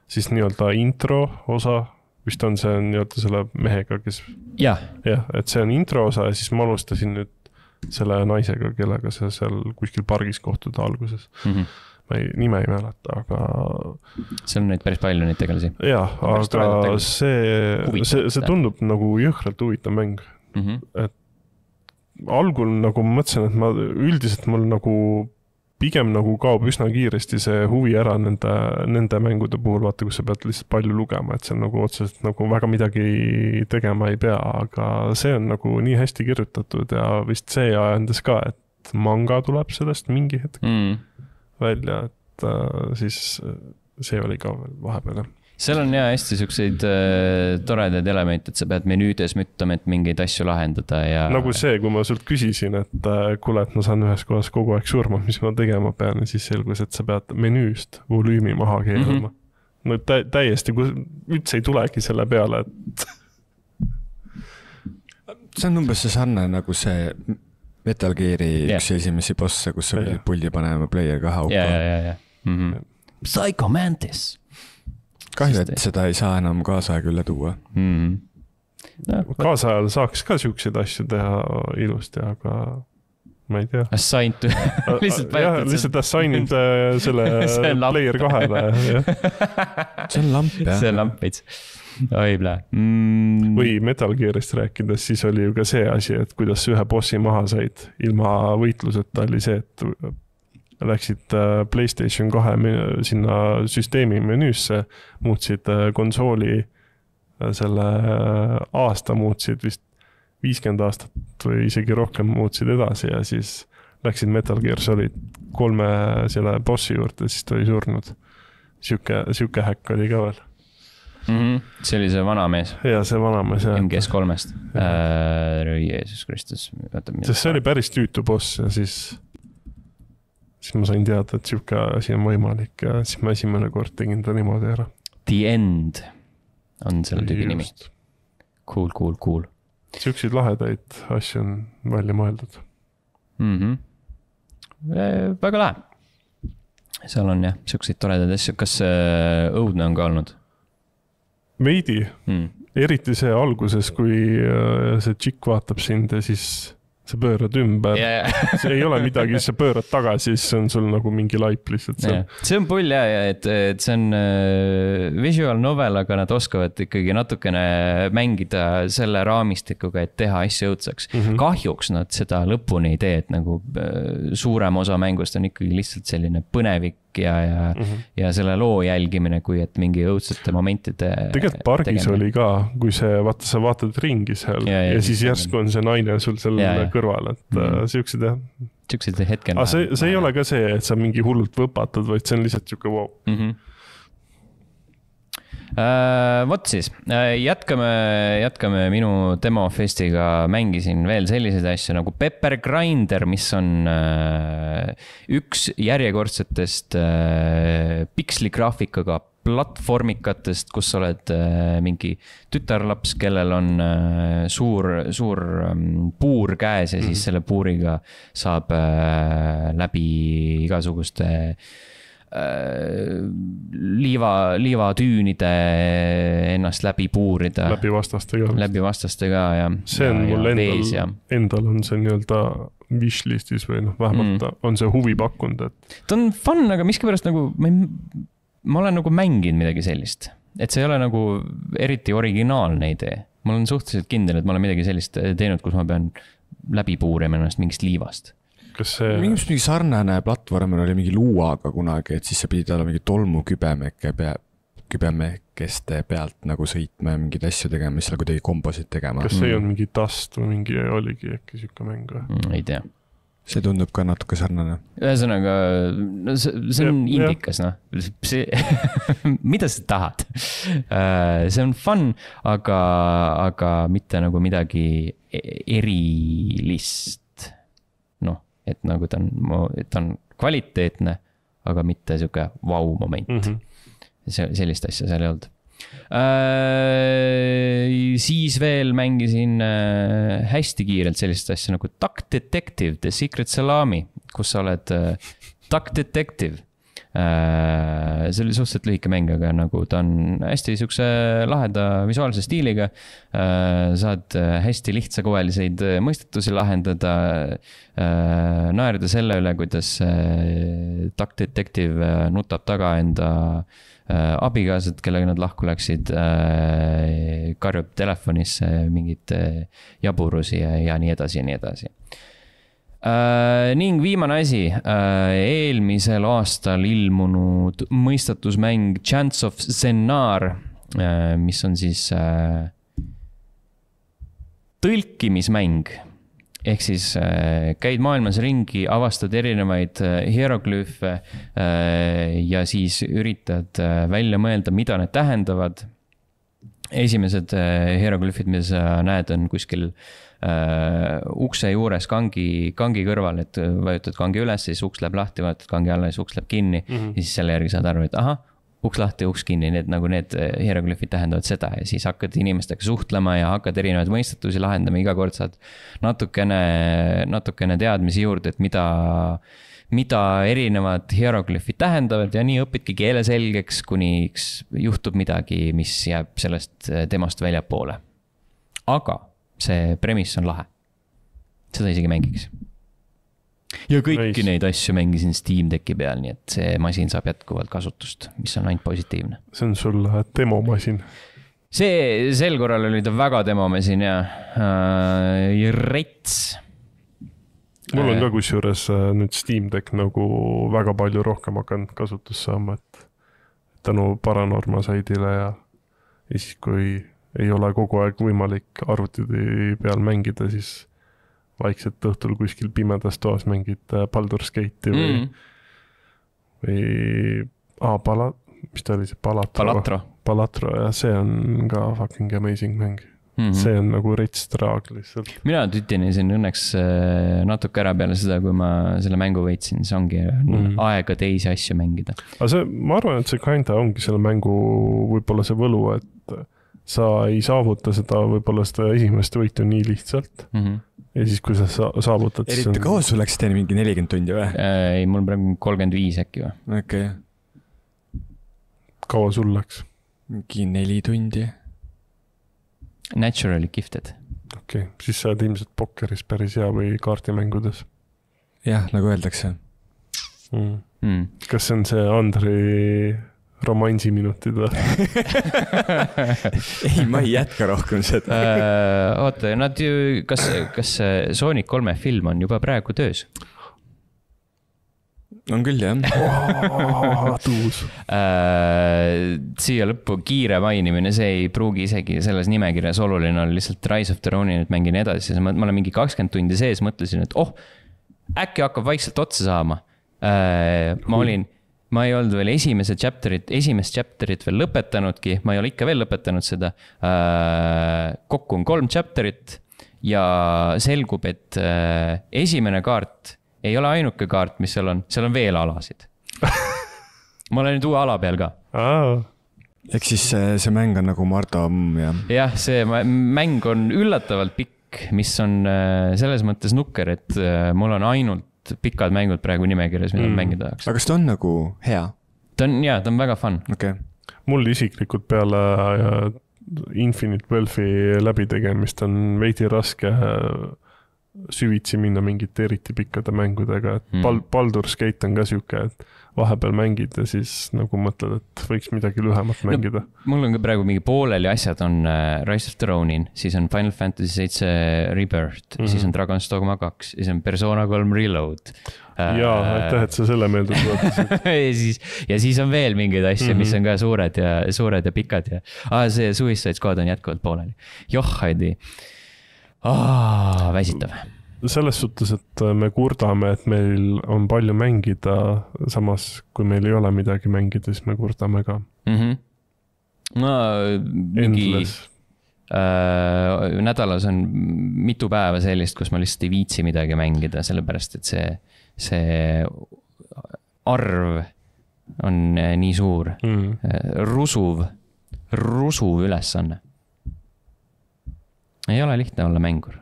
siis nii-öelda intro osa. Vist on see nii-öelda selle mehega, kes... Jah. Jah, et see on intro osa ja siis ma alustasin nüüd selle naisega, kellega sa seal kuskil pargis kohtuda alguses. Mm -hmm. Ma ei, nime ei mäleta, aga... See on neid päris palju neid tegelasi. Jah, aga see, see, see tundub nagu jõhkralt huvitav mäng. Mm -hmm. Et algul nagu ma mõtlesin, et ma üldiselt mul nagu... Pigem nagu kaob üsna kiiresti see huvi ära nende, nende mängude puhul, vaata, kus sa pead lihtsalt palju lugema, et see on nagu otseselt nagu väga midagi tegema ei pea, aga see on nagu nii hästi kirjutatud ja vist see ajendas ka, et manga tuleb sellest mingi hetk mm. välja, et äh, siis see oli ka veel vahepeal. Seal on jah hästi siukseid äh, toredaid elemente, et sa pead menüüdes müttama, et mingeid asju lahendada ja... Nagu see, kui ma sult küsisin, et äh, kuule, et ma saan ühes kohas kogu aeg surma, mis ma tegema pean ja siis selgus, et sa pead menüüst volüümi maha keerama. Mm -hmm. No tä täiesti, kui üldse ei tulegi selle peale, et... see on umbes see sarne nagu see Metal Gear'i yeah. üks esimesi bosse, kus sa pidid puldi panema player kahe auka. Ja, ja, ja, ja. Mm -hmm. Psycho Mantis. Kahju, et seda ei saa enam kaasaega üle tuua. Mm. No, kaasajal saaks ka siukseid asju teha ilusti, aga ma ei tea. Assigned to... lihtsalt jah, lihtsalt assigned selle player kahele. See on lamp, jah. See on lamp, veits. Oi, plee. Mm. Või Metal Gear'ist rääkides, siis oli ju ka see asi, et kuidas ühe bossi maha said ilma võitluseta oli see, et läksid PlayStation kahe sinna süsteemi menüüsse, muutsid konsooli selle aasta, muutsid vist viiskümmend aastat või isegi rohkem muutsid edasi ja siis läksid Metal Gear Solid kolme selle bossi juurde, siis ta oli surnud. Siuke, siuke häkk oli ka veel. Mm -hmm. See oli see vanamees. Ja see vanamees, jah. M G S kolmest. Äh, Jeesus Kristus. Sest see oli päris tüütu boss ja siis... siis ma sain teada, et siuke asi on võimalik ja siis ma esimene kord tegin ta niimoodi ära. The End on selle tüügi nimi. Cool, cool, cool. Siukseid lahedaid asju on välja mõeldud. Mm -hmm. e, väga lahe. Seal on jah, siukseid toredaid asju. Kas äh, õudne on ka olnud? Veidi. Mm. Eriti see alguses, kui äh, see tšikk vaatab sind ja siis... sa pöörad ümber, yeah. see ei ole midagi, sa pöörad tagasi, siis on sul nagu mingi laip lihtsalt seal. Yeah. See on pull jah, et, et see on visual novel, aga nad oskavad ikkagi natukene mängida selle raamistikuga, et teha asja õudseks. Mm -hmm. Kahjuks nad seda lõpuni ei tee, et nagu suurem osa mängust on ikkagi lihtsalt selline põnevik ja, ja, mm -hmm. ja selle loo jälgimine, kui et mingi õudsete momentide tegelikult pargis tegemine. Oli ka, kui see, vaata, sa vaatad ringi seal ja, ja, ja siis järsku on see naine sul seal ja, ja. kõrval, et mm -hmm. siuksed jah. Siuksed hetkel. Aga see, see ei ole ka see, et sa mingi hullult võpatad, vaid see on lihtsalt siuke wow. Mm -hmm. Uh, vot siis, uh, jätkame, jätkame minu demofestiga, mängisin veel selliseid asju nagu Pepper Grinder, mis on uh, üks järjekordsetest uh, piksligraafikaga platvormikatest, kus sa oled uh, mingi tütarlaps, kellel on uh, suur, suur um, puur käes ja siis mm. selle puuriga saab uh, läbi igasuguste liiva, liivatüünide ennast läbi puurida. Läbi vastastega. Läbi vastastega ja. See on ja, mul ja endal, ja. endal on see nii-öelda wishlistis või noh, vähemalt mm. on see huvi pakkunud, et. Ta on fun, aga miskipärast nagu, ma, ei, ma olen nagu mänginud midagi sellist, et see ei ole nagu eriti originaalne idee. Ma olen suhteliselt kindel, et ma olen midagi sellist teinud, kus ma pean läbi puurima ennast mingist liivast. Kas see... Mingi, mingi sarnane platvormil oli mingi luuaga kunagi, et siis sa pidid olla mingi tolmu kübemeke pea, kübemekeste pealt nagu sõitma ja mingeid asju tegema, mis seal kuidagi kombosid tegema. Kas see ei olnud mingi Dust või mingi oligi äkki siuke mäng või? Mm, ei tea. See tundub ka natuke sarnane. Ühesõnaga, no see, see on ja, indikas, noh. See, mida sa tahad? See on fun, aga, aga mitte nagu midagi erilist. Noh, et nagu ta on, ta on kvaliteetne, aga mitte siuke vau moment. Mm-hmm. See, sellist asja seal ei olnud. Äh, siis veel mängisin äh, hästi kiirelt sellist asja nagu Duck Detective, The Secret Salami, kus sa oled äh, Duck Detective. Äh, see oli suhteliselt lühike mäng, aga nagu ta on hästi siukse laheda visuaalse stiiliga. Äh, saad hästi lihtsakoeliseid mõistetusi lahendada, äh, naerda selle üle, kuidas äh, Duck Detective nutab taga enda abigaasad, kellega nad lahku läksid, karjub telefonisse mingid jaburusi ja, ja nii edasi ja nii edasi. Ning viimane asi, eelmisel aastal ilmunud mõistatusmäng Chants of Sennar, mis on siis tõlkimismäng. Ehk siis äh, käid maailmas ringi, avastad erinevaid äh, hieroglüüfe äh, ja siis üritad äh, välja mõelda, mida need tähendavad. Esimesed äh, hieroglüüfid, mida sa näed, on kuskil äh, ukse juures kangi, kangi kõrval, et vajutad kangi üles, siis uks läheb lahti, vajutad kangi alla, siis uks läheb kinni mm-hmm. ja siis selle järgi saad aru, et aha, uks lahti, uks kinni, need, nagu need hieroglüüfid tähendavad seda ja siis hakkad inimestega suhtlema ja hakkad erinevaid mõistetusi lahendama, iga kord saad natukene, natukene teadmisi juurde, et mida, mida erinevad hieroglüüfid tähendavad ja nii õpidki keele selgeks, kuni juhtub midagi, mis jääb sellest temast väljapoole. Aga see premiss on lahe. Seda isegi mängiks. Ja kõiki nice. Neid asju mängisin Steam Decki peal, nii et see masin saab jätkuvalt kasutust, mis on ainult positiivne. See on sul demomasin. See, sel korral oli ta väga demomasin ja äh, rets. Mul on ka kusjuures nüüd Steam Deck nagu väga palju rohkem hakanud kasutus saama, et tänu Paranorma saidile ja, ja siis kui ei ole kogu aeg võimalik arvutide peal mängida, siis vaikselt õhtul kuskil pimedas toas mängid Baldur's Gate'i või, mm. või ah, pala, mis ta oli see? Palatro. Palatro. Palatro ja see on ka fucking amazing mäng. Mm-hmm. See on nagu rets traag lihtsalt. Mina tütinesin õnneks natuke ära peale seda, kui ma selle mängu võitsin, siis ongi mm-hmm. aega teisi asju mängida. Aga see, ma arvan, et see kinda ongi selle mängu võib-olla see võlu, et sa ei saavuta seda võib-olla seda esimest võitu nii lihtsalt. Mm-hmm. Ja siis, kui sa saavutad... Eriti on... kaua sul läks teine mingi nelikümmend tundi või? Ei, mul praegu kolmkümmend viis äkki või. Okei. Okay. Kaua sul läks? Mingi neli tundi. Naturally gifted. Okei, okay. Siis sa oled ilmselt pokkeris päris hea või kaartimängudes? Jah, nagu öeldakse. Mm. Mm. Kas see on see Andri... romansiminutid või? Ei, ma ei jätka rohkem seda. uh, oota, nad ju, kas, kas Sonic kolme film on juba praegu töös? On küll, jah. Oh, tuus. Uh, siia lõppu kiire mainimine, see ei pruugi isegi selles nimekirjas oluline on, lihtsalt Rise of the Ronin, et mängin edasi. Ma, ma olen mingi kakskümmend tundi sees, mõtlesin, et oh, äkki hakkab vaikselt otsa saama. Uh, ma olin... Ma ei olnud veel esimese chapterit, esimest chapterit veel lõpetanudki, ma ei ole ikka veel lõpetanud seda. Kokku on kolm chapterit ja selgub, et esimene kaart ei ole ainuke kaart, mis seal on, seal on veel alasid. Ma olen nüüd uue ala peal ka. Ehk siis see, see mäng on nagu Mardo mm, ja. Jah, see mäng on üllatavalt pikk, mis on selles mõttes nukker, et mul on ainult suht pikad mängud praegu nimekirjas, mida mm. mängida tahaks. aga kas ta on nagu hea? Ta on, jaa, ta on väga fun. Okay. Mul isiklikult peale Infinite Wealthi läbitegemist on veidi raske süvitsi minna mingite eriti pikkade mängudega, et mm. Baldur's Gate on ka siuke, et vahepeal mängid ja siis nagu mõtled, et võiks midagi lühemat mängida. No, mul on ka praegu mingi pooleli asjad on Rise of the Ronin, siis on Final Fantasy seven Rebirth, mm-hmm. siis on Dragon's Dogma two, siis on Persona three Reload. Jaa, aitäh, et sa selle meelde tuletasid. ja, siis, ja siis on veel mingeid asju, mm-hmm. mis on ka suured ja, suured ja pikad. Ja, ah, see Suicide Squad on jätkuvalt pooleli. Joh, Heidi. Ah, väsitav. Selles suhtes, et me kurdame, et meil on palju mängida, samas kui meil ei ole midagi mängida, siis me kurdame ka. Mm-hmm. No, mingi äh, nädalas on mitu päeva sellist, kus ma lihtsalt ei viitsi midagi mängida, sellepärast, et see, see arv on nii suur. Mm. Rusuv, rusuv ülesanne. Ei ole lihtne olla mängur.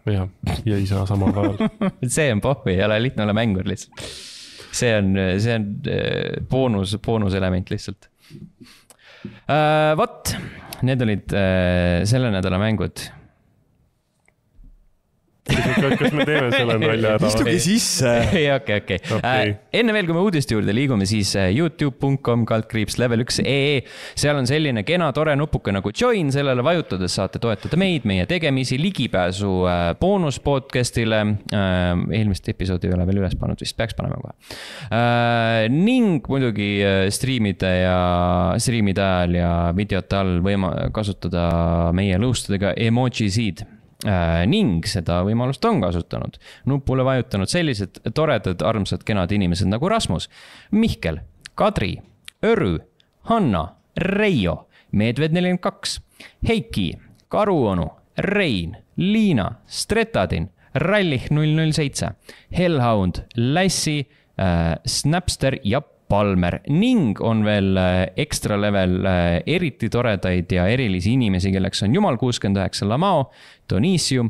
Ja, ja ei saa samal ajal. see on pohvi, ei ole lihtne olla mängur lihtsalt. See on, see on boonus, boonuselement lihtsalt. Uh, Vot, need olid uh, selle nädala mängud. Kas me teeme selle nalja ära? Istugi sisse. Okei, okei. Enne veel, kui me uudiste juurde liigume, siis youtube dot com kaldkriips level one punkt ee. Seal on selline kena tore nupuke nagu join, sellele vajutades saate toetada meid, meie tegemisi, ligipääsu boonus podcastile. Eelmist episoodi ei ole veel üles pannud, vist peaks panema kohe. Ning muidugi streamide ja streamide ajal ja videote all võima kasutada meie lõustudega emojisid. Äh, ning seda võimalust on kasutanud. Nupule vajutanud sellised toredad, armsad, kenad inimesed nagu Rasmus, Mihkel, Kadri, Örü, Hanna, Reijo, Medved nelikümmend kaks, Heiki, Karuonu, Rein, Liina, Stretadin, Rallih null null seitse, Hellhound, Lassi, äh, Snapster ja Palmer ning on veel ekstra level eriti toredaid ja erilisi inimesi, kelleks on Jumal kuuskümmend üheksa Lamao, Donisium,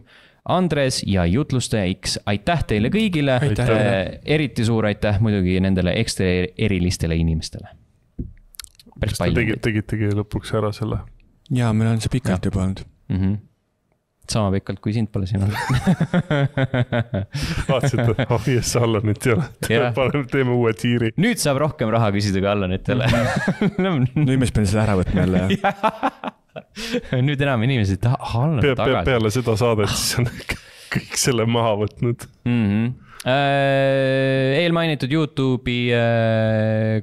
Andres ja Jutlustaja X. Aitäh teile kõigile. Aitäh. Eriti suur aitäh muidugi nendele ekstra erilistele inimestele. Kas te tegid, tegitegi lõpuks ära selle? Jaa, meil on see pikalt juba olnud. Mhm. Sama pikalt, kui sind pole siin olnud. Vaatsid, et oh yes, Allanit ei ole. Teeme uue tiiri. Nüüd saab rohkem raha küsida kui Allanitele. Nüüd me peame selle ära võtma jälle. Nüüd enam inimesed, et Allan Pe tagasi. Peale seda saadet siis on kõik selle maha võtnud. Mhm. Eelmainitud YouTube'i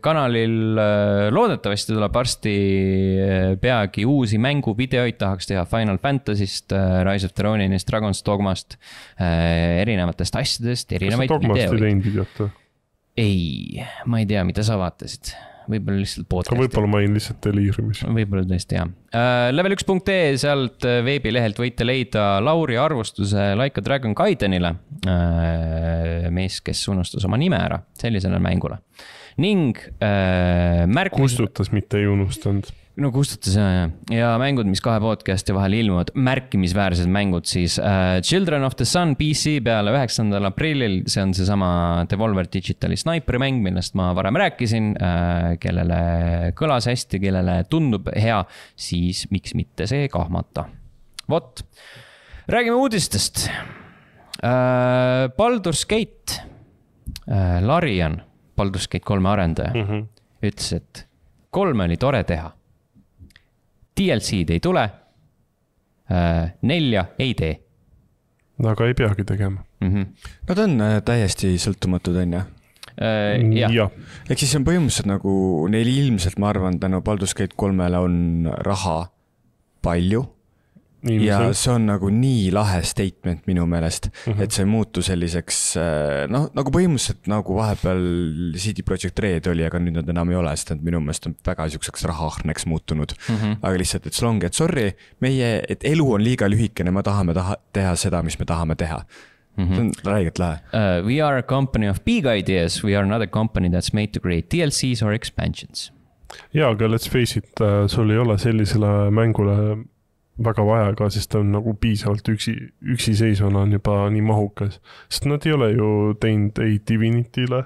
kanalil loodetavasti tuleb varsti peagi uusi mänguvideoid, tahaks teha Final Fantasy'st, Rise of the Roninist, Dragon's Dogmast, erinevatest asjadest, erinevaid videoid. Kas sa Dogmast ei teinud videot? Ei, ma ei tea, mida sa vaatasid. Võib-olla lihtsalt podcasti. Võib-olla ma olin lihtsalt deliirimis. Võib-olla tõesti, jah. level one punkt ee, sealt veebilehelt võite leida Lauri arvustuse Like a Dragon Gaidenile. Mees, kes unustas oma nime ära sellisele mängule. Ning märkus... Kustutas, mitte ei unustanud. No kustutas, ja, ja mängud, mis kahe podcasti vahel ilmuvad, märkimisväärsed mängud siis uh, Children of the Sun P C peale üheksandal aprillil, see on see sama Devolver Digitali Sniperi mäng, millest ma varem rääkisin, uh, kellele kõlas hästi, kellele tundub hea, siis miks mitte see kahmata. Vot, räägime uudistest. uh, Baldur's Gate uh, Larian, Baldur's Gate kolme arendaja, mm -hmm. ütles, et kolme oli tore teha. D L C-d ei tule, nelja ei tee. Aga ei peagi tegema. Mm-hmm. Nad on täiesti sõltumatud, on ja? Äh, ja. ja. Ehk siis on põhimõtteliselt nagu neil ilmselt, ma arvan, tänu Baldur's Gate kolmele on raha palju. Ilmselt. Ja see on nagu nii lahe statement minu meelest, mm-hmm. et see ei muutu selliseks, noh, nagu põhimõtteliselt nagu vahepeal C D Projekt Red oli, aga nüüd nad enam ei ole, sest minu meelest on väga siukseks rahahneks muutunud. Mm-hmm. Aga lihtsalt, et slongi, et sorry, meie, et elu on liiga lühikene, me tahame taha, teha seda, mis me tahame teha. Mm-hmm. See on räigelt lahe. Uh, we are a company of big ideas, we are not a company that's made to create D L Cs or expansions. Ja, aga let's face it, sul ei ole sellisele mängule väga vaja ka, sest ta on nagu piisavalt üksi, üksiseisvana on juba nii mahukas. Sest nad ei ole ju teinud ei Divinity'le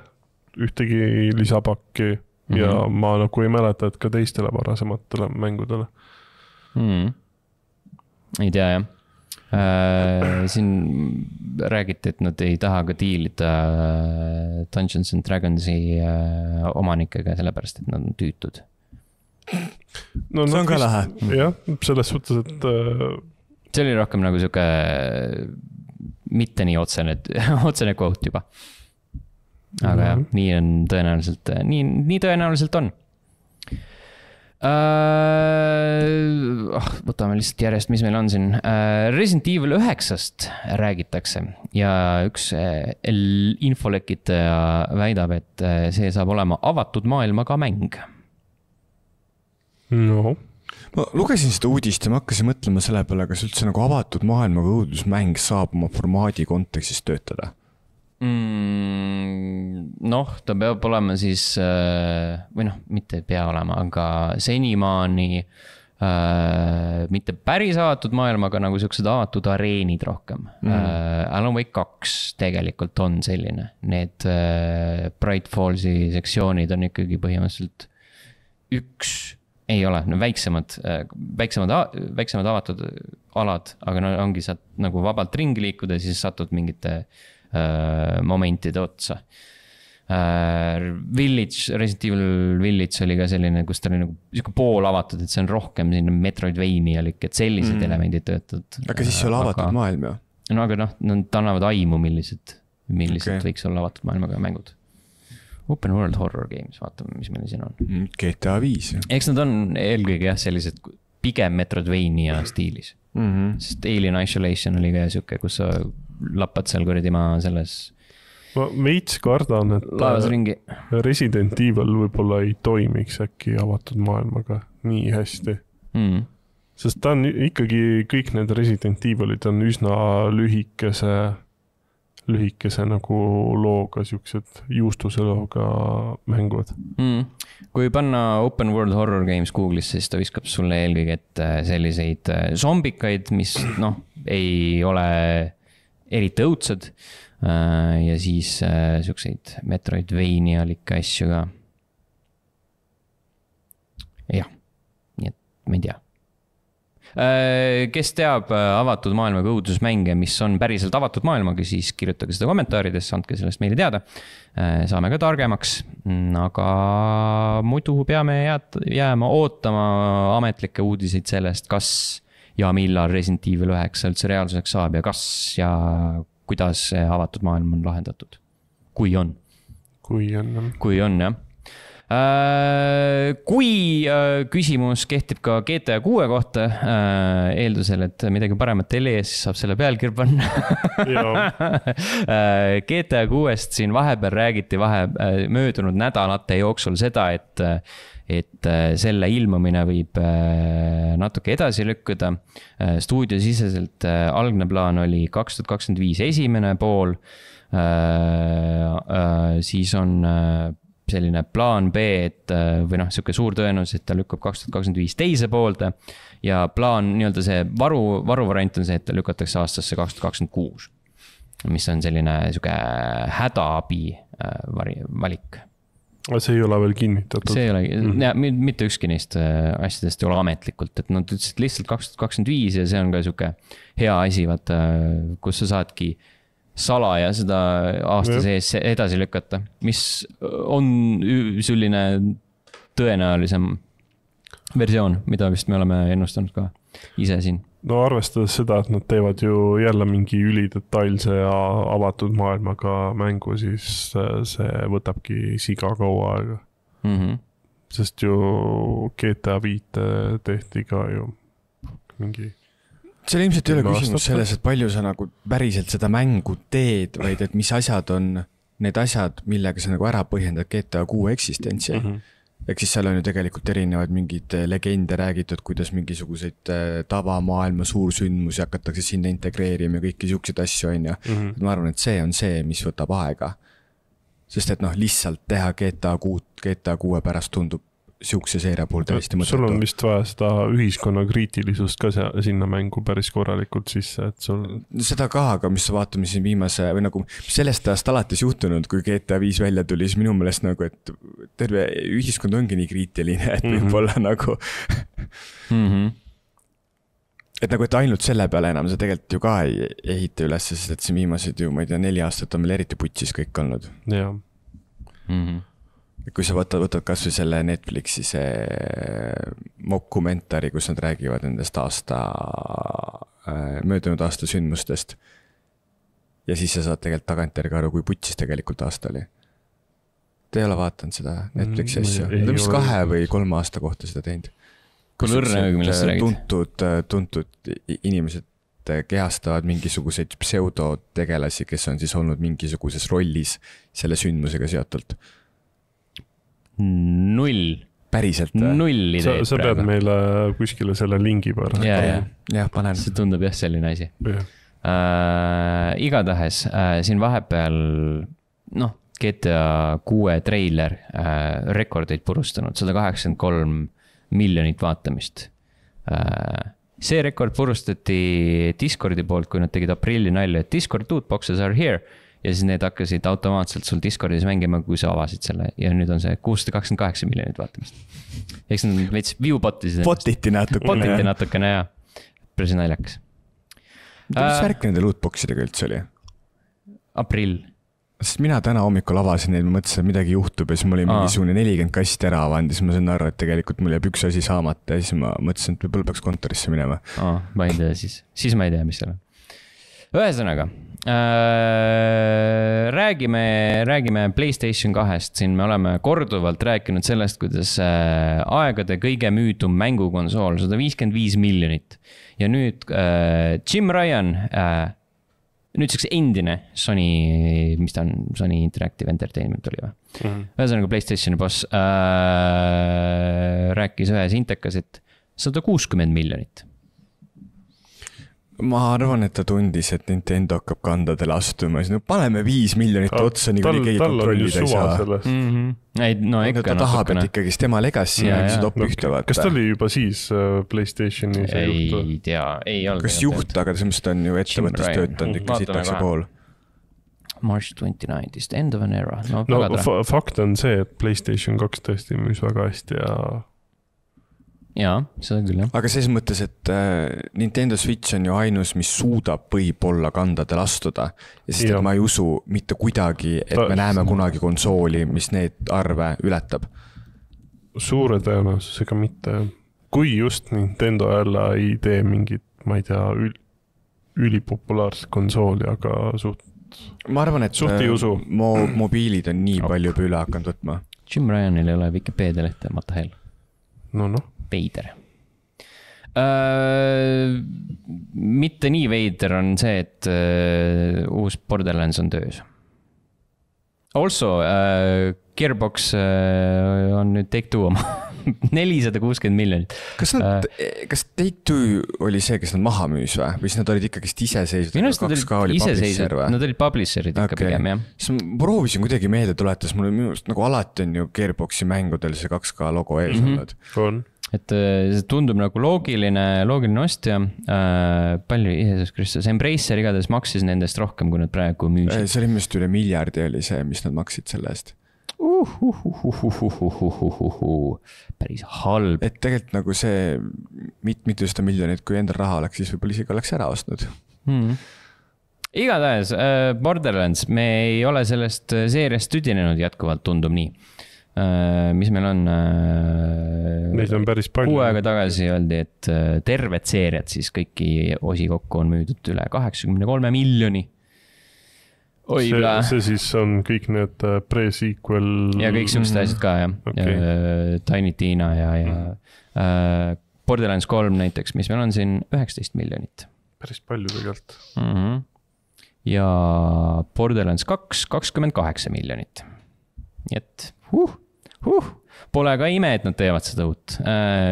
ühtegi lisapakki mm-hmm. ja ma nagu ei mäleta, et ka teistele varasematele mängudele. Mm. Ei tea, jah. Äh, siin räägiti, et nad ei taha ka diilida Dungeons and Dragonsi äh, omanikega, sellepärast, et nad on tüütud. No, see on ka lahe. Jah, selles suhtes, et... Äh... See oli rohkem nagu siuke mitte nii otsene, otsene quote juba. Aga mm-hmm. jah, nii on tõenäoliselt, nii, nii tõenäoliselt on. Uh, oh, võtame lihtsalt järjest, mis meil on siin. Uh, Resident Evil üheksast räägitakse ja üks uh, infolekitaja väidab, et uh, see saab olema avatud maailmaga mäng. No. Ma lugesin seda uudist ja ma hakkasin mõtlema selle peale, kas üldse nagu avatud maailmaga õudusmäng saab oma formaadi kontekstis töötada. Mm, noh, ta peab olema siis, või noh, mitte pea olema, aga senimaani äh, mitte päris avatud maailmaga nagu siuksed avatud areenid rohkem. Mm. Äh, Alan Wake kaks tegelikult on selline. Need äh, Bright Fallsi sektsioonid on ikkagi põhimõtteliselt üks, ei ole, no väiksemad, väiksemad, väiksemad avatud alad, aga no ongi saad nagu vabalt ringi liikuda ja siis satud mingite momentide otsa. Village, Resident Evil Village oli ka selline, kus ta oli nagu pool avatud, et see on rohkem sinna Metroidvania-lik, et sellised mm. elemendid töötavad. Aga siis see on avatud aga, maailm, jah? No aga noh, nad annavad aimu, millised, millised okay. võiks olla avatud maailmaga mängud. Open World Horror Games, vaatame, mis meil siin on. G T A viis. Eks nad on eelkõige jah, sellised pigem Metroidvania stiilis. Mm-hmm. Sest Alien Isolation oli ka siuke, kus sa lappad seal kuradi maa selles ma veits kardan, et laevas ringi. Resident Evil võib-olla ei toimiks äkki avatud maailmaga nii hästi mm. sest ta on ikkagi kõik need Resident Evilid on üsna lühikese lühikese nagu looga siuksed juustuse looga mängud mm. Kui panna Open World Horror Games Google'isse, siis ta viskab sulle eelkõige ette selliseid zombikaid, mis noh, ei ole eriti õudsed ja siis siukseid Metroidvania-likke asju ka. Jah, nii et ma ei tea. Kes teab avatud maailmaga õudusmänge, mis on päriselt avatud maailmaga, siis kirjutage seda kommentaarides, andke sellest meile teada. Saame ka targemaks, aga muidu peame jääma ootama ametlikke uudiseid sellest, kas ja millal Resident Evil üheksa üldse reaalsuseks saab ja kas ja kuidas see avatud maailm on lahendatud. Kui on. Kui on. Kui on, jah. Kui küsimus kehtib ka G T A kuue kohta, eeldusel, et midagi paremat ei leia, siis saab selle pealkirja panna. G T A kuuest siin vahepeal räägiti vahe möödunud nädalate jooksul seda, et et selle ilmumine võib natuke edasi lükkuda. Stuudiosiseselt algne plaan oli kaks tuhat kakskümmend viis esimene pool, siis on selline plaan B, et või noh, siuke suur tõenus, et ta lükkab kaks tuhat kakskümmend viis teise poolde ja plaan, nii-öelda see varu, varu variant on see, et ta lükatakse aastasse kaks tuhat kakskümmend kuus, mis on selline siuke hädaabi valik. See ei ole veel kinnitatud. See ei ole, mm. ja, mitte ükski neist asjadest ei ole ametlikult, et nad ütlesid lihtsalt kaks tuhat kakskümmend viis ja see on ka siuke hea asi, vaata, kus sa saadki salaja seda aasta sees edasi lükata, mis on selline tõenäolisem versioon, mida vist me oleme ennustanud ka ise siin. No arvestades seda, et nad teevad ju jälle mingi ülidetailse ja avatud maailmaga mängu, siis see võtabki siga kaua aega. Mm-hmm. Sest ju G T A viis tehti ka ju mingi... Seal ilmselt ei ole küsimus selles, et palju sa nagu päriselt seda mängu teed, vaid et mis asjad on need asjad, millega sa nagu ära põhjendad G T A kuue eksistentsi. Mm-hmm. Ehk siis seal on ju tegelikult erinevad mingid legende räägitud, kuidas mingisuguseid tavamaailma suursündmusi hakatakse sinna integreerima ja kõiki siukseid asju on ja mm-hmm. ma arvan, et see on see, mis võtab aega. Sest et noh, lihtsalt teha G T A kuut, G T A kuue pärast tundub siukse seeria puhul täiesti mõttetu. Sul on vist vaja seda ühiskonna kriitilisust ka sinna mängu päris korralikult sisse, et sul... Seda ka, aga mis vaatame siin viimase, või nagu sellest ajast alates juhtunud, kui G T A viis välja tuli, siis minu meelest nagu, et terve ühiskond ongi nii kriitiline, et mm-hmm. võib-olla nagu... mm-hmm. Et nagu, et ainult selle peale enam sa tegelikult ju ka ei ehita üles, sest et see viimased ju, ma ei tea, neli aastat on meil eriti putsis kõik olnud. Jaa. Mm-hmm. Kui sa võtad, võtad kas või selle Netflixi see mokumentari, kus nad räägivad nendest aasta, möödunud aasta sündmustest. Ja siis sa saad tegelikult tagantjärgi aru, kui putsis tegelikult aasta oli. Te ei ole vaatanud seda Netflixi asja. Nad on vist kahe või kolme aasta kohta seda teinud. Kui õrne, millest sa räägid? Tuntud, tuntud inimesed kehastavad mingisuguseid pseudotegelasi, kes on siis olnud mingisuguses rollis selle sündmusega seotult. Null. Päriselt. Null ideed sa, sa pead meile kuskile selle lingi pära. Ja, ja. ja, panen. See tundub jah selline asi. Ja. Äh, igatahes äh, siin vahepeal noh, G T A kuue treiler äh, rekordeid purustanud, sada kaheksakümmend kolm miljonit vaatamist. Äh, see rekord purustati Discordi poolt, kui nad tegid aprilli nalja, et Discord dude boxes are here. Ja siis need hakkasid automaatselt sul Discordis mängima, kui sa avasid selle. Ja nüüd on see kuussada kakskümmend kaheksa miljonit vaatamist. Eks nad veits viewbotisid. Botiti natukene. Botiti natukene, jah. Päris naljakas. Mis värk nende lootboxidega üldse oli? Aprill. Sest mina täna hommikul avasin neid, ma mõtlesin, et midagi juhtub ja siis mul oli mingisugune nelikümmend kasti ära avanud ja siis ma sain aru, et tegelikult mul jääb üks asi saamata ja siis ma mõtlesin, et võib-olla peaks kontorisse minema. Aa, ma ei tea siis. Siis ma ei tea, mis seal on. Ühesõnaga, äh, räägime, räägime PlayStation kahest, siin me oleme korduvalt rääkinud sellest, kuidas äh, aegade kõige müüdum mängukonsool, sada viiskümmend viis miljonit. Ja nüüd äh, Jim Ryan, äh, nüüd siukse endine Sony, mis ta on, Sony Interactive Entertainment oli või? Mm-hmm. Ühesõnaga PlayStationi boss äh, rääkis ühes intekas, et sada kuuskümmend miljonit. Ma arvan, et ta tundis, et Nintendo hakkab kandadele astuma. No, paneme viis miljonit otsa, nii kui keegi kontrollida ei saa. Mm-hmm. Ei, no ikka ta tahab, et ikkagi tema legacy ja, ja top ühte vaata. Kas ta oli juba siis PlayStationi see juht? Ei tea, ei olnud. Kas juht, aga selles mõttes ta on ju ettevõttes töötanud ikka sitakse pool. March twenty-ninth, end of an era. No, no fakt on see, et PlayStation kaks tõesti müüs väga hästi ja... Jaa, seda küll, jah. Aga selles mõttes, et Nintendo Switch on ju ainus, mis suudab võib-olla kandadel astuda. Ja sest, et ma ei usu mitte kuidagi, et ta, me näeme kunagi konsooli, mis need arve ületab. Suure tõenäosusega mitte. Kui just Nintendo jälle ei tee mingit, ma ei tea, ül, ülipopulaarset konsooli, aga suht, ma arvan, et suht ei usu. Mo, mobiilid on nii palju juba üle hakanud võtma. Jim Ryanil ei ole Wikipedia lehte, Mata Hell. No, noh. Veider. Uh, mitte nii veider on see, et uh, uus Borderlands on töös. Also, uh, Gearbox uh, on nüüd Take Two oma nelisada kuuskümmend miljonit. Kas, nad, uh, kas Take Two oli see, kes nad maha müüs või? Või siis nad olid ikkagi iseseisvad? Minu arust nad olid iseseisvad, nad olid publisherid ikka okay. Pigem, jah. Siis ma proovisin kuidagi meelde tuletas, mul minu arust nagu alati on ju Gearboxi mängudel see kaks K logo ees mm-hmm. olnud. On. Et see tundub nagu loogiline, loogiline ostja. Äh, palju, Jeesus Kristus, Embracer igatahes maksis nendest rohkem, kui nad praegu müüsid. See oli millest üle miljardi oli see, mis nad maksid selle eest. Uh, uh, uh, uh, uh, uh, uh, uh, uh. Päris halb. Et tegelikult nagu see mit, mitu seda miljonit, kui endal raha oleks, siis võib-olla isegi oleks ära ostnud. Hmm. Igatahes, äh, Borderlands, me ei ole sellest seeriast tüdinenud jätkuvalt, tundub nii. Uh, mis meil on uh, neid on päris palju. Kuu aega tagasi öeldi, et uh, terved seeriad siis kõiki osi kokku on müüdud üle kaheksakümmend kolm miljoni. Oi, see, see siis on kõik need pre-sequel ja kõik siuksed asjad ka, jah. Okay. Uh, Tiny Tina ja, ja uh, Borderlands kolm näiteks, mis meil on siin üheksateist miljonit. Päris palju tegelikult. Uh-huh. Ja Borderlands kaks, kakskümmend kaheksa miljonit. Nii et huh, huh. Pole ka ime, et nad teevad seda uut.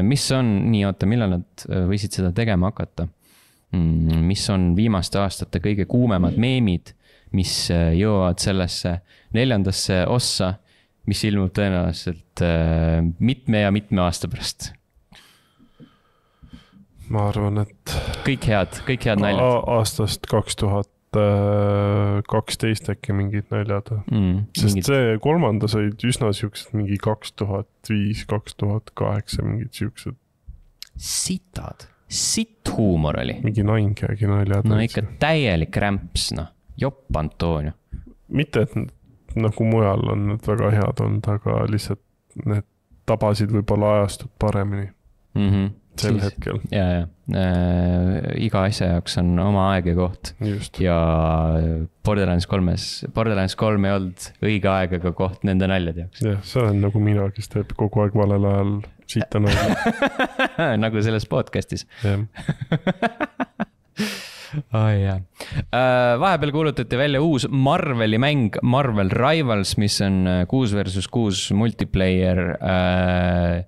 Mis on, nii oota, millal nad võisid seda tegema hakata? Mis on viimaste aastate kõige kuumemad meemid, mis jõuavad sellesse neljandasse ossa mis ilmub tõenäoliselt äh, mitme ja mitme aasta pärast. Ma arvan, et kõik head, kõik head naljad. Aastast kaks tuhat kaksteist äkki mingid naljad. Mm, Sest mingid... see kolmandas olid üsna siuksed mingi kaks tuhat viis, kaks tuhat kaheksa mingid siuksed. Sitad, sitt huumor oli. Mingi nainkägi naljad. No ikka täielik rämps, noh. Jopp Antonio. Mitte, et nagu mujal on need väga head olnud, aga lihtsalt need tabasid võib-olla ajastud paremini. Mhm. Sel siis, hetkel. Ja, ja. Äh, iga asja jaoks on oma aeg ja koht. Just. Ja Borderlands kolmes, Borderlands kolm ei olnud õige aeg ega koht nende naljad jaoks. Jah, see on nagu mina, kes teeb kogu aeg valel ajal siita nalja. Nagu selles podcastis. Jah. Oh, yeah. uh, vahepeal kuulutati välja uus Marveli mäng Marvel Rivals, mis on kuus versus kuus multiplayer uh,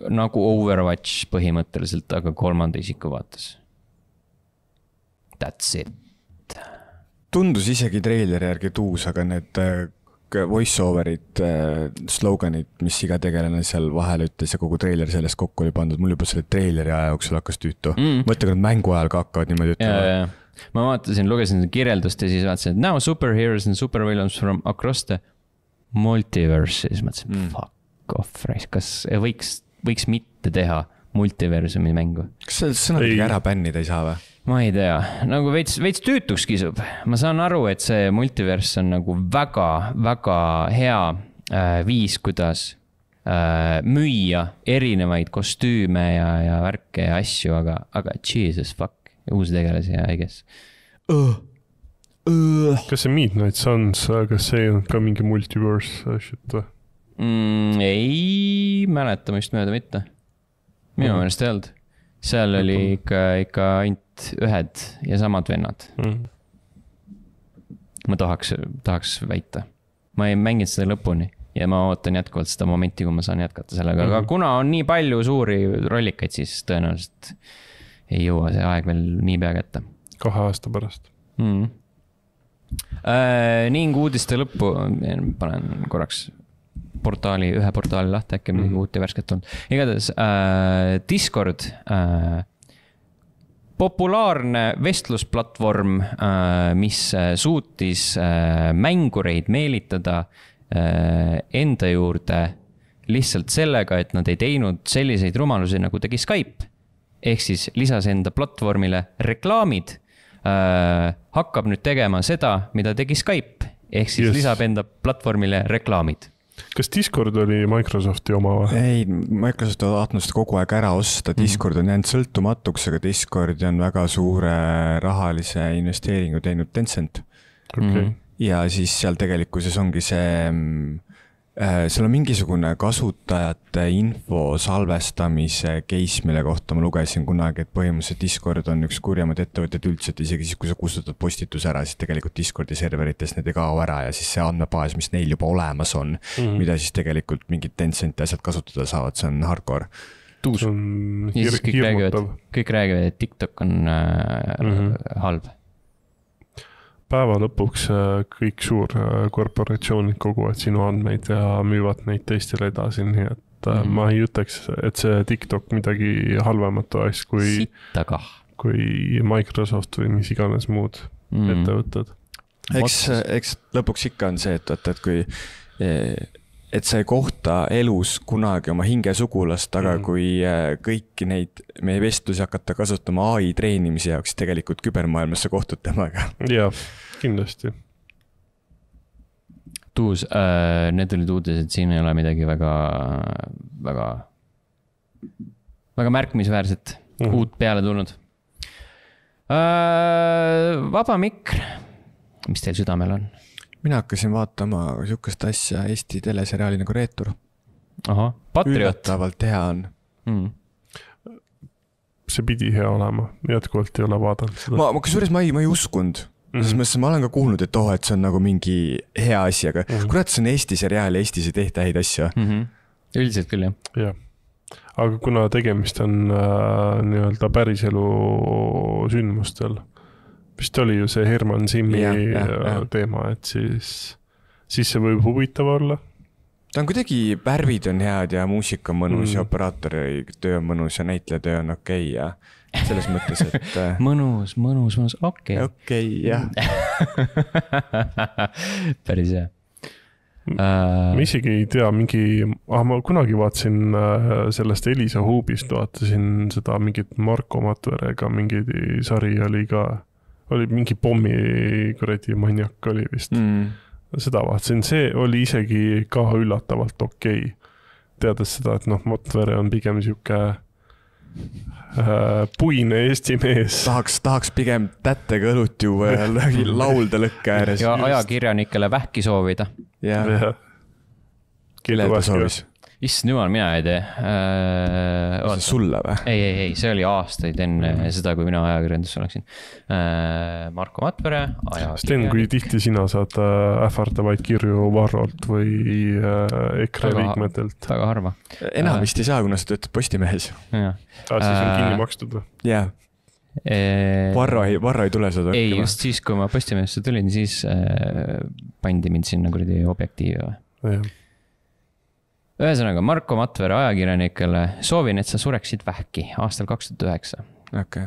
nagu Overwatch põhimõtteliselt, aga kolmanda isiku vaates. That's it. Tundus isegi treileri järgi tuus, aga need voice-overid, sloganid, mis iga tegelane seal vahel ütles ja kogu treiler sellest kokku oli pandud, mul juba selle treileri aja jooksul hakkas tüütu. Mm. Mõtle, kui nad mängu ajal ka hakkavad niimoodi ütlema. Ma vaatasin, lugesin kirjeldust ja siis vaatasin, et now superheroes and supervillains from across the multiverse. Siis mõtlesin, mm. fuck. Offreis, kas võiks, võiks mitte teha multiversumi mängu? Kas see sõnadega ära bännida ei saa või? Ma ei tea, nagu veits, veits tüütuks kisub. Ma saan aru, et see multivers on nagu väga, väga hea äh, viis, kuidas äh, müüa erinevaid kostüüme ja, ja värke ja asju, aga, aga Jesus fuck, uusi tegelasi ja I guess. Uh. Uh. Kas see Midnight Suns, kas see on ka mingi multiverse shit või? Mm, ei mäleta vist mööda mitte. Minu meelest mm. ei olnud. Seal oli ikka, ikka ainult ühed ja samad vennad. Mm. Ma tahaks, tahaks väita. Ma ei mänginud seda lõpuni ja ma ootan jätkuvalt seda momenti, kui ma saan jätkata sellega. Mm. Aga kuna on nii palju suuri rollikaid, siis tõenäoliselt ei jõua see aeg veel nii pea kätte. Kahe aasta pärast. Mm. Äh, ning uudiste lõppu panen korraks portaali, ühe portaali lahti, äkki midagi uut ja värsket olnud. Igatahes äh, Discord, äh, populaarne vestlusplatvorm, äh, mis suutis äh, mängureid meelitada äh, enda juurde lihtsalt sellega, et nad ei teinud selliseid rumalusi, nagu tegi Skype. Ehk siis lisas enda platvormile reklaamid, äh, hakkab nüüd tegema seda, mida tegi Skype. Ehk siis yes. lisab enda platvormile reklaamid. Kas Discord oli Microsofti oma või? Ei, Microsoft on tahtnud seda kogu aeg ära osta. Discord on jäänud sõltumatuks, aga Discordi on väga suure rahalise investeeringu teinud Tencent. Okay. Ja siis seal tegelikkuses ongi see, seal on mingisugune kasutajate info salvestamise case, mille kohta ma lugesin kunagi, et põhimõtteliselt Discord on üks kurjamad ettevõtted üldse, et isegi siis, kui sa kustutad postitus ära, siis tegelikult Discordi serverites need ei kao ära ja siis see andmebaas, mis neil juba olemas on, mm-hmm. mida siis tegelikult mingid Tencenti asjad kasutada saavad, see on hardcore. Tuus. Ja siis kõik räägivad, kõik räägivad, et TikTok on äh, mm-hmm. halb. Päeva lõpuks kõik suur korporatsioonid koguvad sinu andmeid ja müüvad neid teistele edasi, nii et mm. ma ei ütleks, et see TikTok midagi halvemat oleks kui, kui Microsoft või mis iganes muud mm. ettevõtted. Eks, eks lõpuks ikka on see, et, et kui et sa ei kohta elus kunagi oma hingesugulast, aga mm. kui kõiki neid meie vestlusi hakata kasutama A I treenimise jaoks, tegelikult kübermaailmas sa kohtud temaga. Jah, kindlasti. Tuus, äh, need olid uudised, siin ei ole midagi väga, väga, väga märkimisväärset mm. uut peale tulnud. Äh, vaba mikr, mis teil südamel on? Mina hakkasin vaatama sihukest asja Eesti teleseriaali nagu Reetur. Aha, Patriot. Üllatavalt hea on. Mm. See pidi hea olema, jätkuvalt ei ole vaadanud seda. Ma, ma kusjuures ma ei, ma ei uskund. Mm -hmm. Ma olen ka kuulnud, et oh, et see on nagu mingi hea asi, aga mm -hmm. kurat, see on Eesti seriaal, Eestis ei tehta häid asju. Mm -hmm. Üldiselt küll, jah. Jah. Aga kuna tegemist on äh, nii-öelda päriselu sündmustel, vist oli ju see Herman Simmi ja, ja, ja. teema, et siis, siis see võib huvitav olla. ta on kuidagi, värvid on head ja muusika on mõnus mm. ja operaatori töö on mõnus ja näitleja töö on okei okay ja selles mõttes, et mõnus, mõnus, mõnus, okei okay. okei okay,, jah päris hea uh... ma isegi ei tea, mingi ah, ma kunagi vaatasin sellest Elisa Huubist, vaatasin seda mingit Marko Matverega mingi sari oli ka, oli mingi pommi kuradi maniak oli vist mm. seda vaatasin, see oli isegi ka üllatavalt okei okay. teades seda, et noh, Matvere on pigem siuke puine Eesti mees. Tahaks, tahaks pigem tättega õlut juua ja laulda lõkke ääres. Ja ajakirjanikele vähki soovida. Jah. Kelle ta soovis? Issand jumal, mina ei tee. Äh, see sulle või? Ei, ei, ei, see oli aastaid enne mm. seda, kui mina ajakirjandus oleksin. Äh, Marko Matvere, ajakirjanik. Sten, kui tihti sina saad ähvardavaid kirju Varrolt või EKRE väga, liikmetelt? Väga harva. Enam vist ei saa, kuna sa töötad Postimehes. Ja. Ah, siis on kinni makstud või? Jah. Varro ei, Varro ei tule seda. Ei, just siis, kui ma Postimehesse tulin, siis äh, pandi mind sinna kuradi objektiivi või? Jah. Ühesõnaga, Marko Matvere ajakirjanikele soovin, et sa sureksid vähki aastal kaks tuhat üheksa. Okei.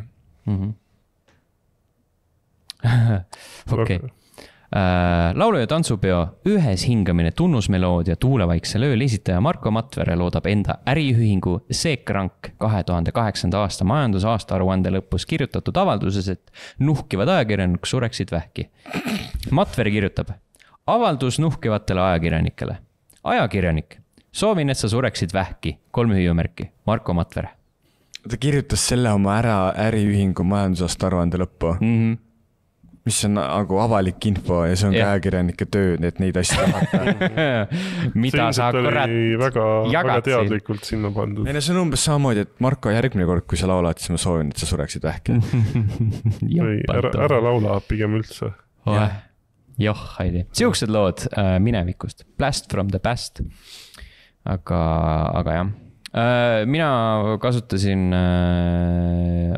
Okei. Laulu- ja tantsupeo Ühes hingamine tunnusmeloodia tuulevaiksel ööl esitaja Marko Matvere loodab enda äriühingu Seekrank kahe tuhande kaheksanda aasta majandusaasta aruande lõpus kirjutatud avalduses, et nuhkivad ajakirjanik sureksid vähki. Matvere kirjutab, avaldus nuhkivatele ajakirjanikele. Ajakirjanik. Soovin, et sa sureksid vähki. Kolme hüüumärki. Marko Matvere. Ta kirjutas selle oma ära äriühingu majandusaasta aruande lõppu. Mm-hmm. Mis on nagu avalik info ja see on yeah. ka ajakirjanike töö, et neid asju tahata. Mida sa kurat väga, väga teadlikult sinna pandud. Ei, see on umbes samamoodi, et Marko järgmine kord, kui sa laulad, siis ma soovin, et sa sureksid vähki. Või ära, ära laula pigem üldse. Jah, Joh, Heidi. Siuksed lood äh, minevikust. Blast from the past. Aga, aga jah, mina kasutasin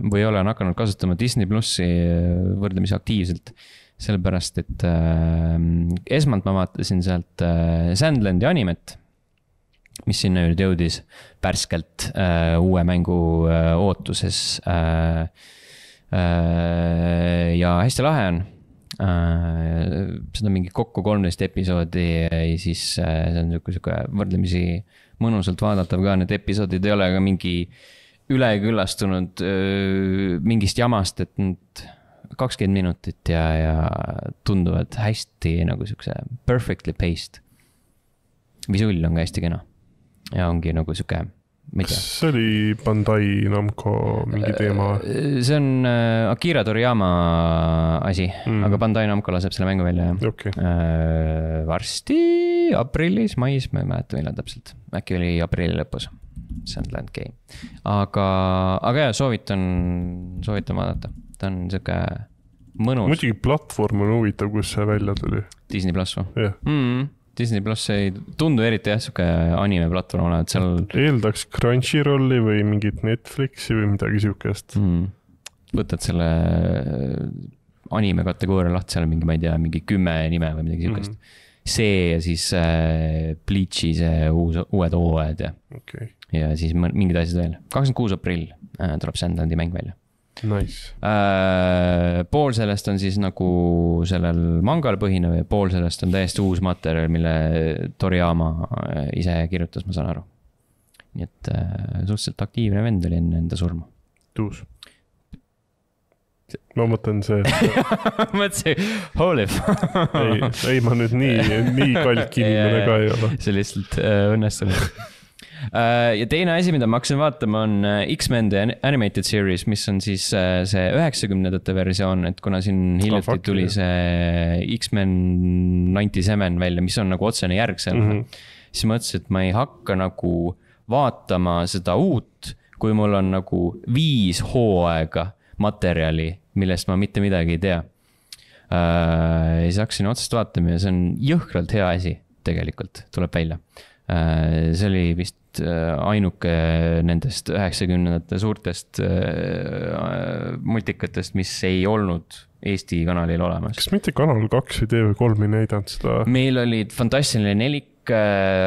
või olen hakanud kasutama Disney Plussi võrdlemisi aktiivselt, sellepärast, et esmalt ma vaatasin sealt Sandlandi animet, mis sinna nüüd jõudis pärskelt uue mängu ootuses ja hästi lahe on. Seda mingi kokku kolmteist episoodi ja siis see on niisugune võrdlemisi mõnusalt vaadatav ka, need episoodid ei ole ka mingi üleküllastunud mingist jamast, et nüüd kakskümmend minutit ja, ja tunduvad hästi nagu niisuguse perfectly paced. Visull on ka hästi kena ja ongi nagu niisugune see oli Bandai Namco mingi teema? See on Akira Toriyama asi, mm. aga Bandai Namco laseb selle mängu välja. Okay. Varsti aprillis, mais, ma ei mäleta millal täpselt. Äkki oli aprilli lõpus. Sandland Game. Aga, aga jah, soovitan, soovitan vaadata. Ta on niisugune mõnus. Muidugi platvorm on huvitav, kus see välja tuli. Disney Plus või? Jah. Yeah. Mm. Disney Plus ei tundu eriti jah, siuke anime platvorm on, et seal... Eeldaks Crunchyrolli või mingit Netflixi või midagi siukest. Mm. Võtad selle anime kategooria lahti, seal on mingi, ma ei tea, mingi kümme nime või midagi siukest. Mm. See ja siis äh, Bleachi see uus, uued hooajad ja, okay. ja siis mingid asjad veel. kakskümmend kuus aprill äh, tuleb Sandlandi mäng välja. Nice. Äh, pool sellest on siis nagu sellel mangal põhinev ja pool sellest on täiesti uus materjal, mille Toriyama ise kirjutas, ma saan aru. Nii et äh, suhteliselt aktiivne vend oli enne enda surma. Tuus. Ma mõtlen see... mõtlesin, holy ei, ei, ma nüüd nii, nii kalk inimene ka ei ole. See lihtsalt äh, õnnestunud. Ja teine asi, mida ma hakkasin vaatama, on X-Men The Animated Series, mis on siis see üheksakümnendate versioon, et kuna siin hiljuti oh, tuli see X-Men üheksakümmend seitse välja, mis on nagu otsene järg seal, mm-hmm. siis mõtlesin, et ma ei hakka nagu vaatama seda uut, kui mul on nagu viis hooaega materjali, millest ma mitte midagi ei tea. Ja siis hakkasin otsast vaatama ja see on jõhkralt hea asi tegelikult, tuleb välja. See oli vist ainuke nendest üheksakümnendate suurtest multikatest, mis ei olnud Eesti kanalil olemas. Kas mitte Kanal kaks või T V kolm ei näidanud seda? Meil olid fantastiline nelik,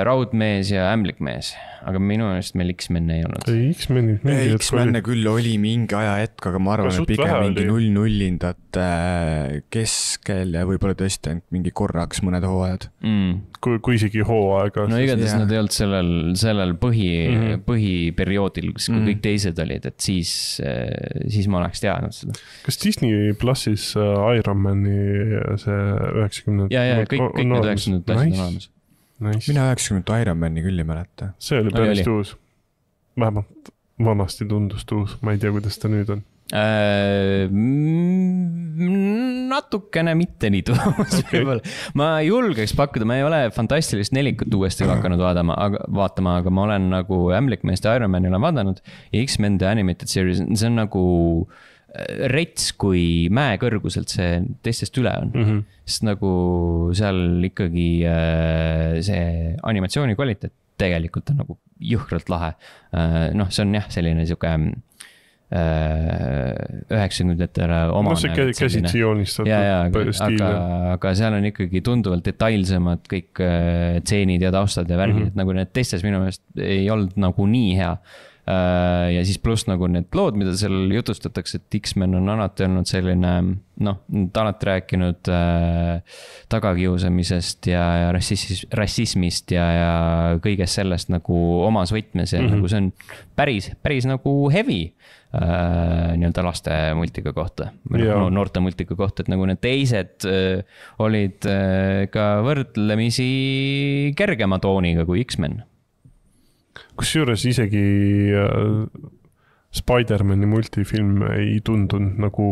Raudmees ja Ämblikmees, aga minu meelest meil X-Men ei olnud. ei, X-Menid mingi hetk X-Menne küll oli mingi aja hetk, aga ma arvan, Aga et pigem mingi oli. null-nullindate keskel ja võib-olla tõesti ainult mingi korraks mõned hooajad. Mm. kui, kui isegi hooaega. No igatahes jah. nad ei olnud sellel, sellel põhi, Mhm. mm-hmm. põhiperioodil, kus Mhm. kõik teised olid, et siis, siis ma oleks teadnud seda. Kas Disney plussis äh, Ironmani see üheksakümnendad? ja, ja kõik, kõik need üheksakümnendad klassid on olemas. Nice. mina üheksakümnendat Ironmani küll ei mäleta. see oli päris uus. vähemalt vanasti tundus uus, ma ei tea, kuidas ta nüüd on. Äh, natukene mitte nii tuus okay. Ma julgeks pakkuda, ma ei ole Fantastilist nelikut uuesti hakanud vaatama, aga, vaatama, aga ma olen nagu Ämblikmeest ja Ironmani olen vaadanud ja X-Men The Animated Series, see on nagu rets, kui mäe kõrguselt see teistest üle on. Mm-hmm. Sest nagu seal ikkagi see animatsiooni kvaliteet tegelikult on nagu jõhkralt lahe. Noh, see on jah, selline siuke üheksakümnendatele omane. No see käsitsi joonistatud ja, ja, stiil. aga, aga seal on ikkagi tunduvalt detailsemad kõik tseenid ja taustad ja värgid, mm-hmm. et nagu need teistes minu meelest ei olnud nagu nii hea. Ja siis pluss nagu need lood, mida seal jutustatakse, et X-Men on alati olnud selline, noh, ta alati rääkinud äh, tagakiusamisest ja, ja rassismis, rassismist ja, ja kõigest sellest nagu omas võtmes ja mm-hmm. nagu see on päris, päris nagu heavy äh, nii-öelda laste multika kohta, no, noorte multika kohta, et nagu need teised äh, olid äh, ka võrdlemisi kergema tooniga kui X-Men. Kusjuures isegi äh, Spider-Mani multifilm ei tundunud nagu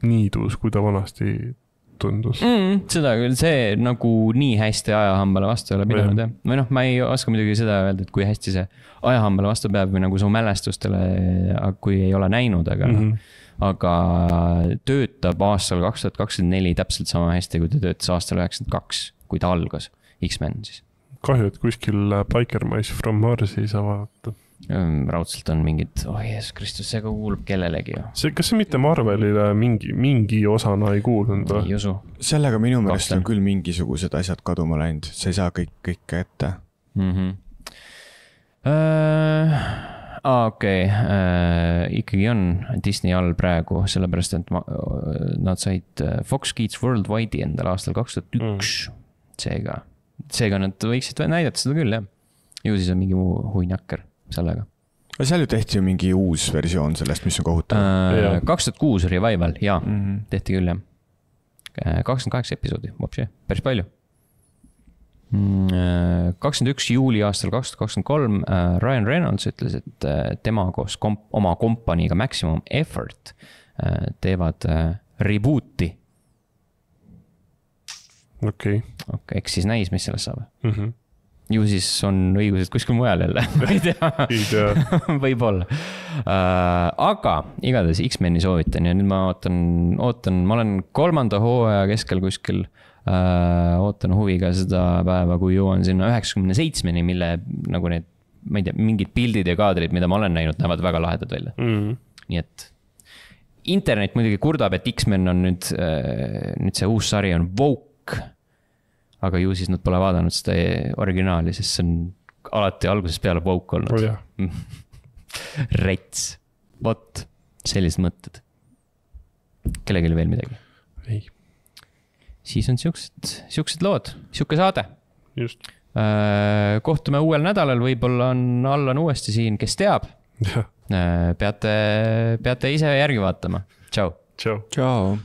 nii tuus, kui ta vanasti tundus. Mm, seda küll, see nagu nii hästi ajahambale vastu ei ole pidanud, jah. Või noh, ma ei oska muidugi seda öelda, et kui hästi see ajahambale vastu peab või nagu su mälestustele, kui ei ole näinud, aga, mm-hmm. aga töötab aastal kaks tuhat kakskümmend neli täpselt sama hästi, kui ta töötas aastal üheksakümmend kaks, kui ta algas X-Men siis. Kahju, et kuskil Biker Mice from Marsi ei saa vaadata. Raudselt on mingid, oh Jeesus Kristus, see ka kuulub kellelegi ju. See, kas see mitte Marvelile mingi, mingi osana ei kuulnud? Ei usu. Sellega minu meelest on küll mingisugused asjad kaduma läinud, sa ei saa kõik, kõike ette. Mm-hmm. Uh, ah, okei, okay. uh, ikkagi on Disney all praegu, sellepärast, et ma, nad said Fox Kids Worldwide'i endal aastal kaks tuhat üks, mm. seega. Seega nad võiksid näidata seda küll, jah. Ju siis on mingi muu huinakker sellega. Seal ju tehti ju mingi uus versioon sellest, mis on kohutav. Uh, kaks tuhat kuus revival, jaa, mm-hmm. tehti küll, jah. kakskümmend kaheksa episoodi, vapsi, päris palju. kakskümmend üks juuli aastal kaks tuhat kakskümmend kolm uh, Ryan Reynolds ütles, et uh, tema koos komp- oma kompaniiga Maximum Effort uh, teevad uh, rebooti. Okei. Okay. Okay, eks siis näis, mis sellest saab. Mm-hmm. Ju siis on õigused kuskil mujal jälle, ma ei tea. ei tea. Võib-olla. Uh, aga igatahes X-Meni soovitan ja nüüd ma ootan, ootan, ma olen kolmanda hooaja keskel kuskil, uh, ootan huviga seda päeva, kui jõuan sinna üheksakümne seitsmeni, mille nagu need, ma ei tea, mingid pildid ja kaadrid, mida ma olen näinud, näevad väga lahedad välja. Mm-hmm. Nii et internet muidugi kurdab, et X-Men on nüüd, uh, nüüd see uus sari on woke. Aga ju siis nad pole vaadanud seda originaali, sest see on alati algusest peale woke olnud. Oh, jah. Rets. Vot, sellised mõtted. Kellelgi veel midagi? Ei. Siis on siuksed, siuksed lood, siuke saade. Just. Kohtume uuel nädalal, võib-olla on Allan uuesti siin, kes teab. Ja. Peate, peate ise järgi vaatama. Tšau. Tšau. Tšau.